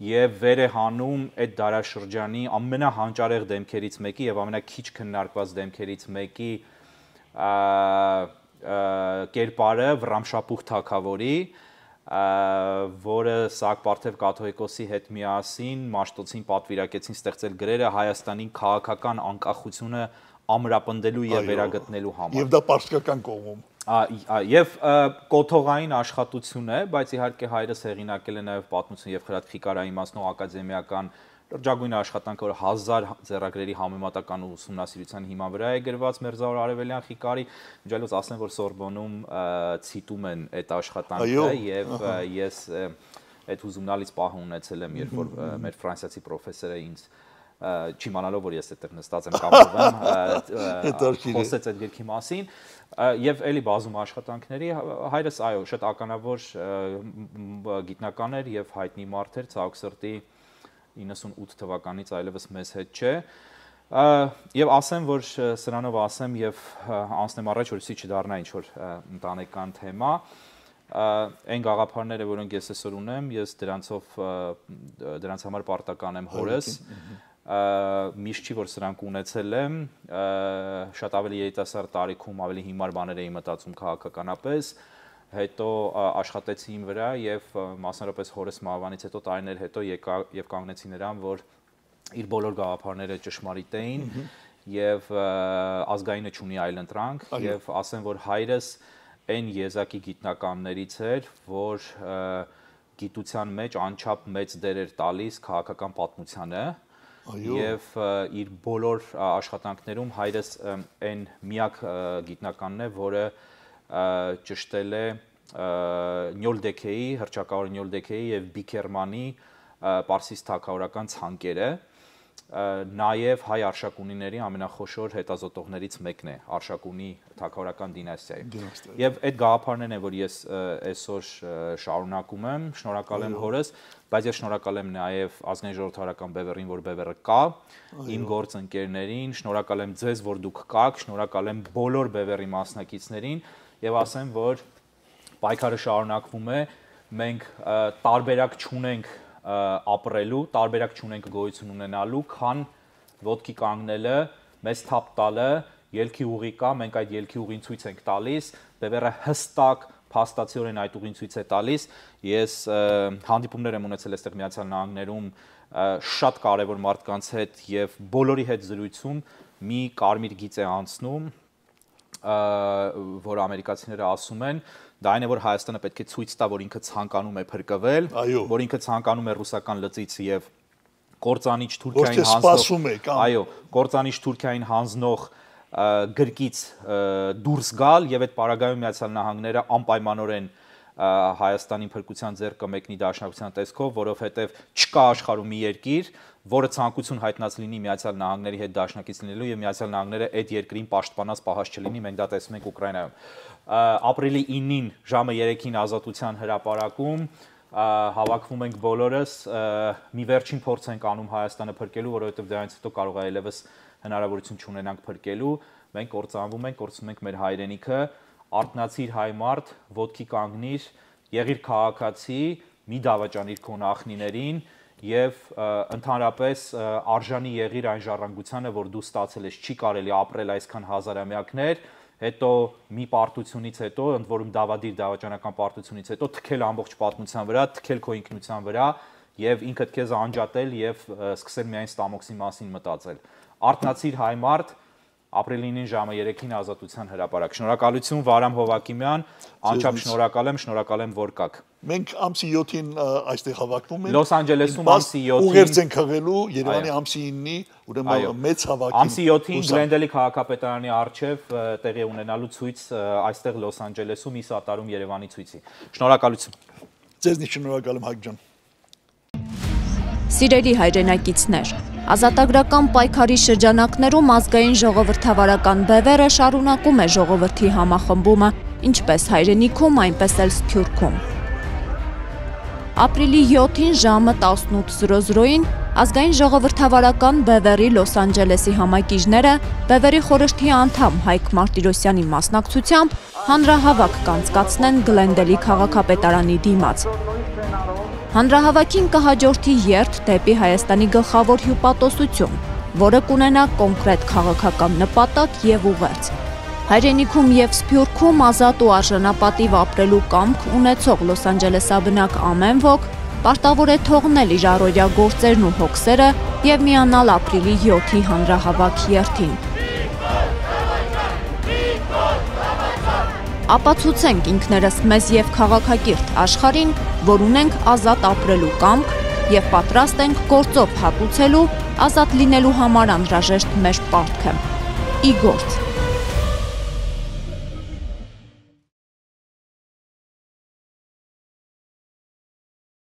Speaker 1: եւ վեր է հանում այդ դարաշրջանի ամենահանճարեղ դեմքերից մեկի եւ ամենաքիչ քննարկված դեմքերից մեկի կերպարը Վռամշապուխ թագավորի, որը Սահակ-Պարթև կաթողիկոսի հետ միասին Մաշտոցին պատվիրակեցին ստեղծել գրերը Հայաստանի քաղաքական անկախությունը ամրապնդելու եւ վերագտնելու համար։
Speaker 2: Եվ դա պարսկական կողմում։
Speaker 1: Եվ կոթողային աշխատություն է, բայց իհարկե հայրս հեղինակել է նաև պատմություն եւ խրատխիկարային իմաստնող ակադեմիական լրջագույն աշխատանքը, որ 1000 ձեռագրերի համեմատական ուսումնասիրության հիման վրա է գրված Մերձավոր Արևելյան Խիկարի, միջալոց ասեմ, որ Սորբոնում ցիտում են այդ աշխատանքը եւ ես այդ հուզումնալից պահը ունեցել եմ, երբ որ մեր ֆրանսիացի պրոֆեսորը ինձ չիմանալով որ ես այդտեղ նստած եմ կապվում, խոսեց այդ գրքի մասին եւ էլի բազում աշխատանքների հայրս այո շատ ականավոր գիտնական էր եւ հայտնի մարդ էր, ցավոք սրտի 98 թվականից այլևս մեզ հետ չէ եւ ասեմ որ սրանով ասեմ եւ անցնեմ առաջ որպեսզի չդառնա ինչ որ ընտանեկան թեմա այն գաղափարները որոնք ես այսօր ունեմ ես դրանց համար պարտական եմ հորս միշտ չի որ սրանք ունեցել եմ շատ ավելի երիտասարդ տարիքում ավելի հիմար բաներ էի մտածում քաղաքականապես հետո աշխատեցի իմ վրա եւ մասնավորապես հորս մահվանից հետո տարիներ հետո եկա եւ կանգնեցի նրան որ իր բոլոր գաղափարները ճշմարիտ էին եւ ազգայինը չունի այլ ընտրանք եւ ասեմ որ հայրս այն եզակի գիտնականներից էր որ գիտության մեջ անչափ մեծ դեր էր տալիս քաղաքական պատմությանը եւ իր բոլոր աշխատանքներում հայրս այն միակ գիտնականն է, որը ճշտել է Նյոլդեքեի, հռչակավոր Նյոլդեքեի եւ Բիքերմանի պարսից թագավորական ցանկերը, նաեւ հայ արշակունիների ամենախոշոր հետազոտողներից մեկն է արշակունի թագավորական դինաստիայի։ Եվ այդ գաղափարներն են, որ ես այսօր շարունակում եմ, շնորհակալ եմ հորս, բայց ես շնորհակալ եմ նաեւ ազգային ժողովրդավարական բևեռին, որ բևեռը կա, իմ գործընկերներին, շնորհակալ եմ ձեզ, որ դուք կաք, շնորհակալ եմ բոլոր բևեռի մասնակիցներին եւ ասեմ, որ պայքարը շարունակվում է, մենք տարբերակ չունենք ապրելու, տարբերակ չունենք գոյություն ունենալու, քան ոտքի կանգնելը, մեզ թափ տալը, ելքի ուղի կա, մենք այդ ելքի ուղին ցույց ենք տալիս, բևեռը հստակ փաստացիորեն այդ ուղին ցույց է տալիս։ Ես հանդիպումներ եմ ունեցել այստեղ Միացյալ Նահանգներում շատ կարևոր մարդկանց հետ եւ բոլորի հետ զրույցում մի կարմիր գիծ է անցնում, որ ամերիկացիները ասում են, դա այն է որ Հայաստանը պետք է ցույց տա, որ ինքը ցանկանում է փրկվել, որ ինքը ցանկանում է ռուսական լծից եւ կործանիչ Թուրքիային հանձնող, այո, կործանիչ Թուրքիային հանձնող գրկից դուրս գալ եւ այդ պարագայում Միացյալ Նահանգները անպայմանորեն Հայաստանի փրկության ձեռքը մեկնի դաշնակցության տեսքով, որովհետեւ չկա աշխարհում մի երկիր, որը ցանկություն հայտնած լինի Միացյալ Նահանգների հետ դաշնակից լինելու եւ Միացյալ Նահանգները այդ երկրին պաշտպանած պահած չլինի, մենք դա տեսնում ենք Ուկրաինայում։ Ապրիլի 9-ին ժամը 3-ին Ազատության հրապարակում հավաքվում ենք բոլորս, մի վերջին փորձ ենք անում Հայաստանը փրկելու, որովհետեւ դրանից հետո կարող է այլևս հնարավորություն չունենանք փրկելու, մենք կործանվում ենք, կորցնում ենք մեր հայրենիքը, արթնացիր հայ մարդ, ոտքի կանգնիր, եղիր քաղաքացի, մի դավաճանիր քո նախնիներին եւ ընդհանրապես արժանի եղիր այն ժառանգությանը, որ դու ստացել ես, չի կարելի ապրել այսքան հազարամյակներ, հետո մի պարտությունից հետո, ընդ որում դավադիր դավաճանական պարտությունից հետո թքել ամբողջ պատմության վրա, թքել քո ինքնության վրա եւ ինքդ քեզ անջատել եւ սկսել միայն ստամոքսի մասին մտածել։ Արթնացիր հայ մարդ, ապրիլի 9-ին ժամը 3-ին Ազատության հրապարակ։ Շնորհակալություն Վարամ Հովակիմյան, անչափ շնորհակալ եմ, որ կաք։
Speaker 2: Մենք ամսի 7-ին այստեղ հավաքվում ենք։
Speaker 1: Լոս Անջելեսում ամսի 7-ին
Speaker 2: ուղերձ ենք հղելու Երևանի ամսի 9-ի, ուրեմն մեծ հավաքի։
Speaker 1: Ամսի 7-ին Գլենդելի քաղաքապետարանի առջև տեղի ունենալու ցույց այստեղ Լոս Անջելեսում ի սատարում Երևանի ցույցի։ Շնորհակալություն։
Speaker 2: Ձեզնից շնորհակալ եմ Հակ ջան։
Speaker 3: Սիրելի հայրենակիցներ, ազատագրական պայքարի շրջանակներում ազգային ժողովրդավարական բևեռը շարունակում է ժողովրդի համախմբումը, ինչպես հայրենիքում, այնպես էլ Սփյուռքում։ Ապրիլի 7-ին ժամը 18:00-ին ազգային ժողովրդավարական բևեռի Լոս Անջելեսի համակիժները բևեռի խորհրդի անդամ Հայկ Մարտիրոսյանի մասնակցությամբ հանրահավաք կանցկացնեն Գլենդելի քաղաքապետարանի դիմաց։ Հանրահավաքին կհաջորդի երթ դեպի Հայաստանի գլխավոր հյուպատոսություն, որը կունենա կոնկրետ քաղաքական նպատակ եւ ուղերձ։ Հայրենիքում եւ Սփյուռքում ազատ ու արժանապատիվ ապրելու կամք ունեցող Լոս Անջելեսաբնակ ամեն ոք պարտավոր է թողնել իր առօրյա գործերն ու հոգսերը եւ միանալ ապրիլի 7-ի հանրահավաք երթին։ Ապացուցենք ինքներս մեզ եւ քաղաքակիրթ աշխարհին, որ ունենք ազատ ապրելու կամք եւ պատրաստ ենք գործով հատուցելու ազատ լինելու համար անհրաժեշտ մեր պարտքը։ Ի գործ։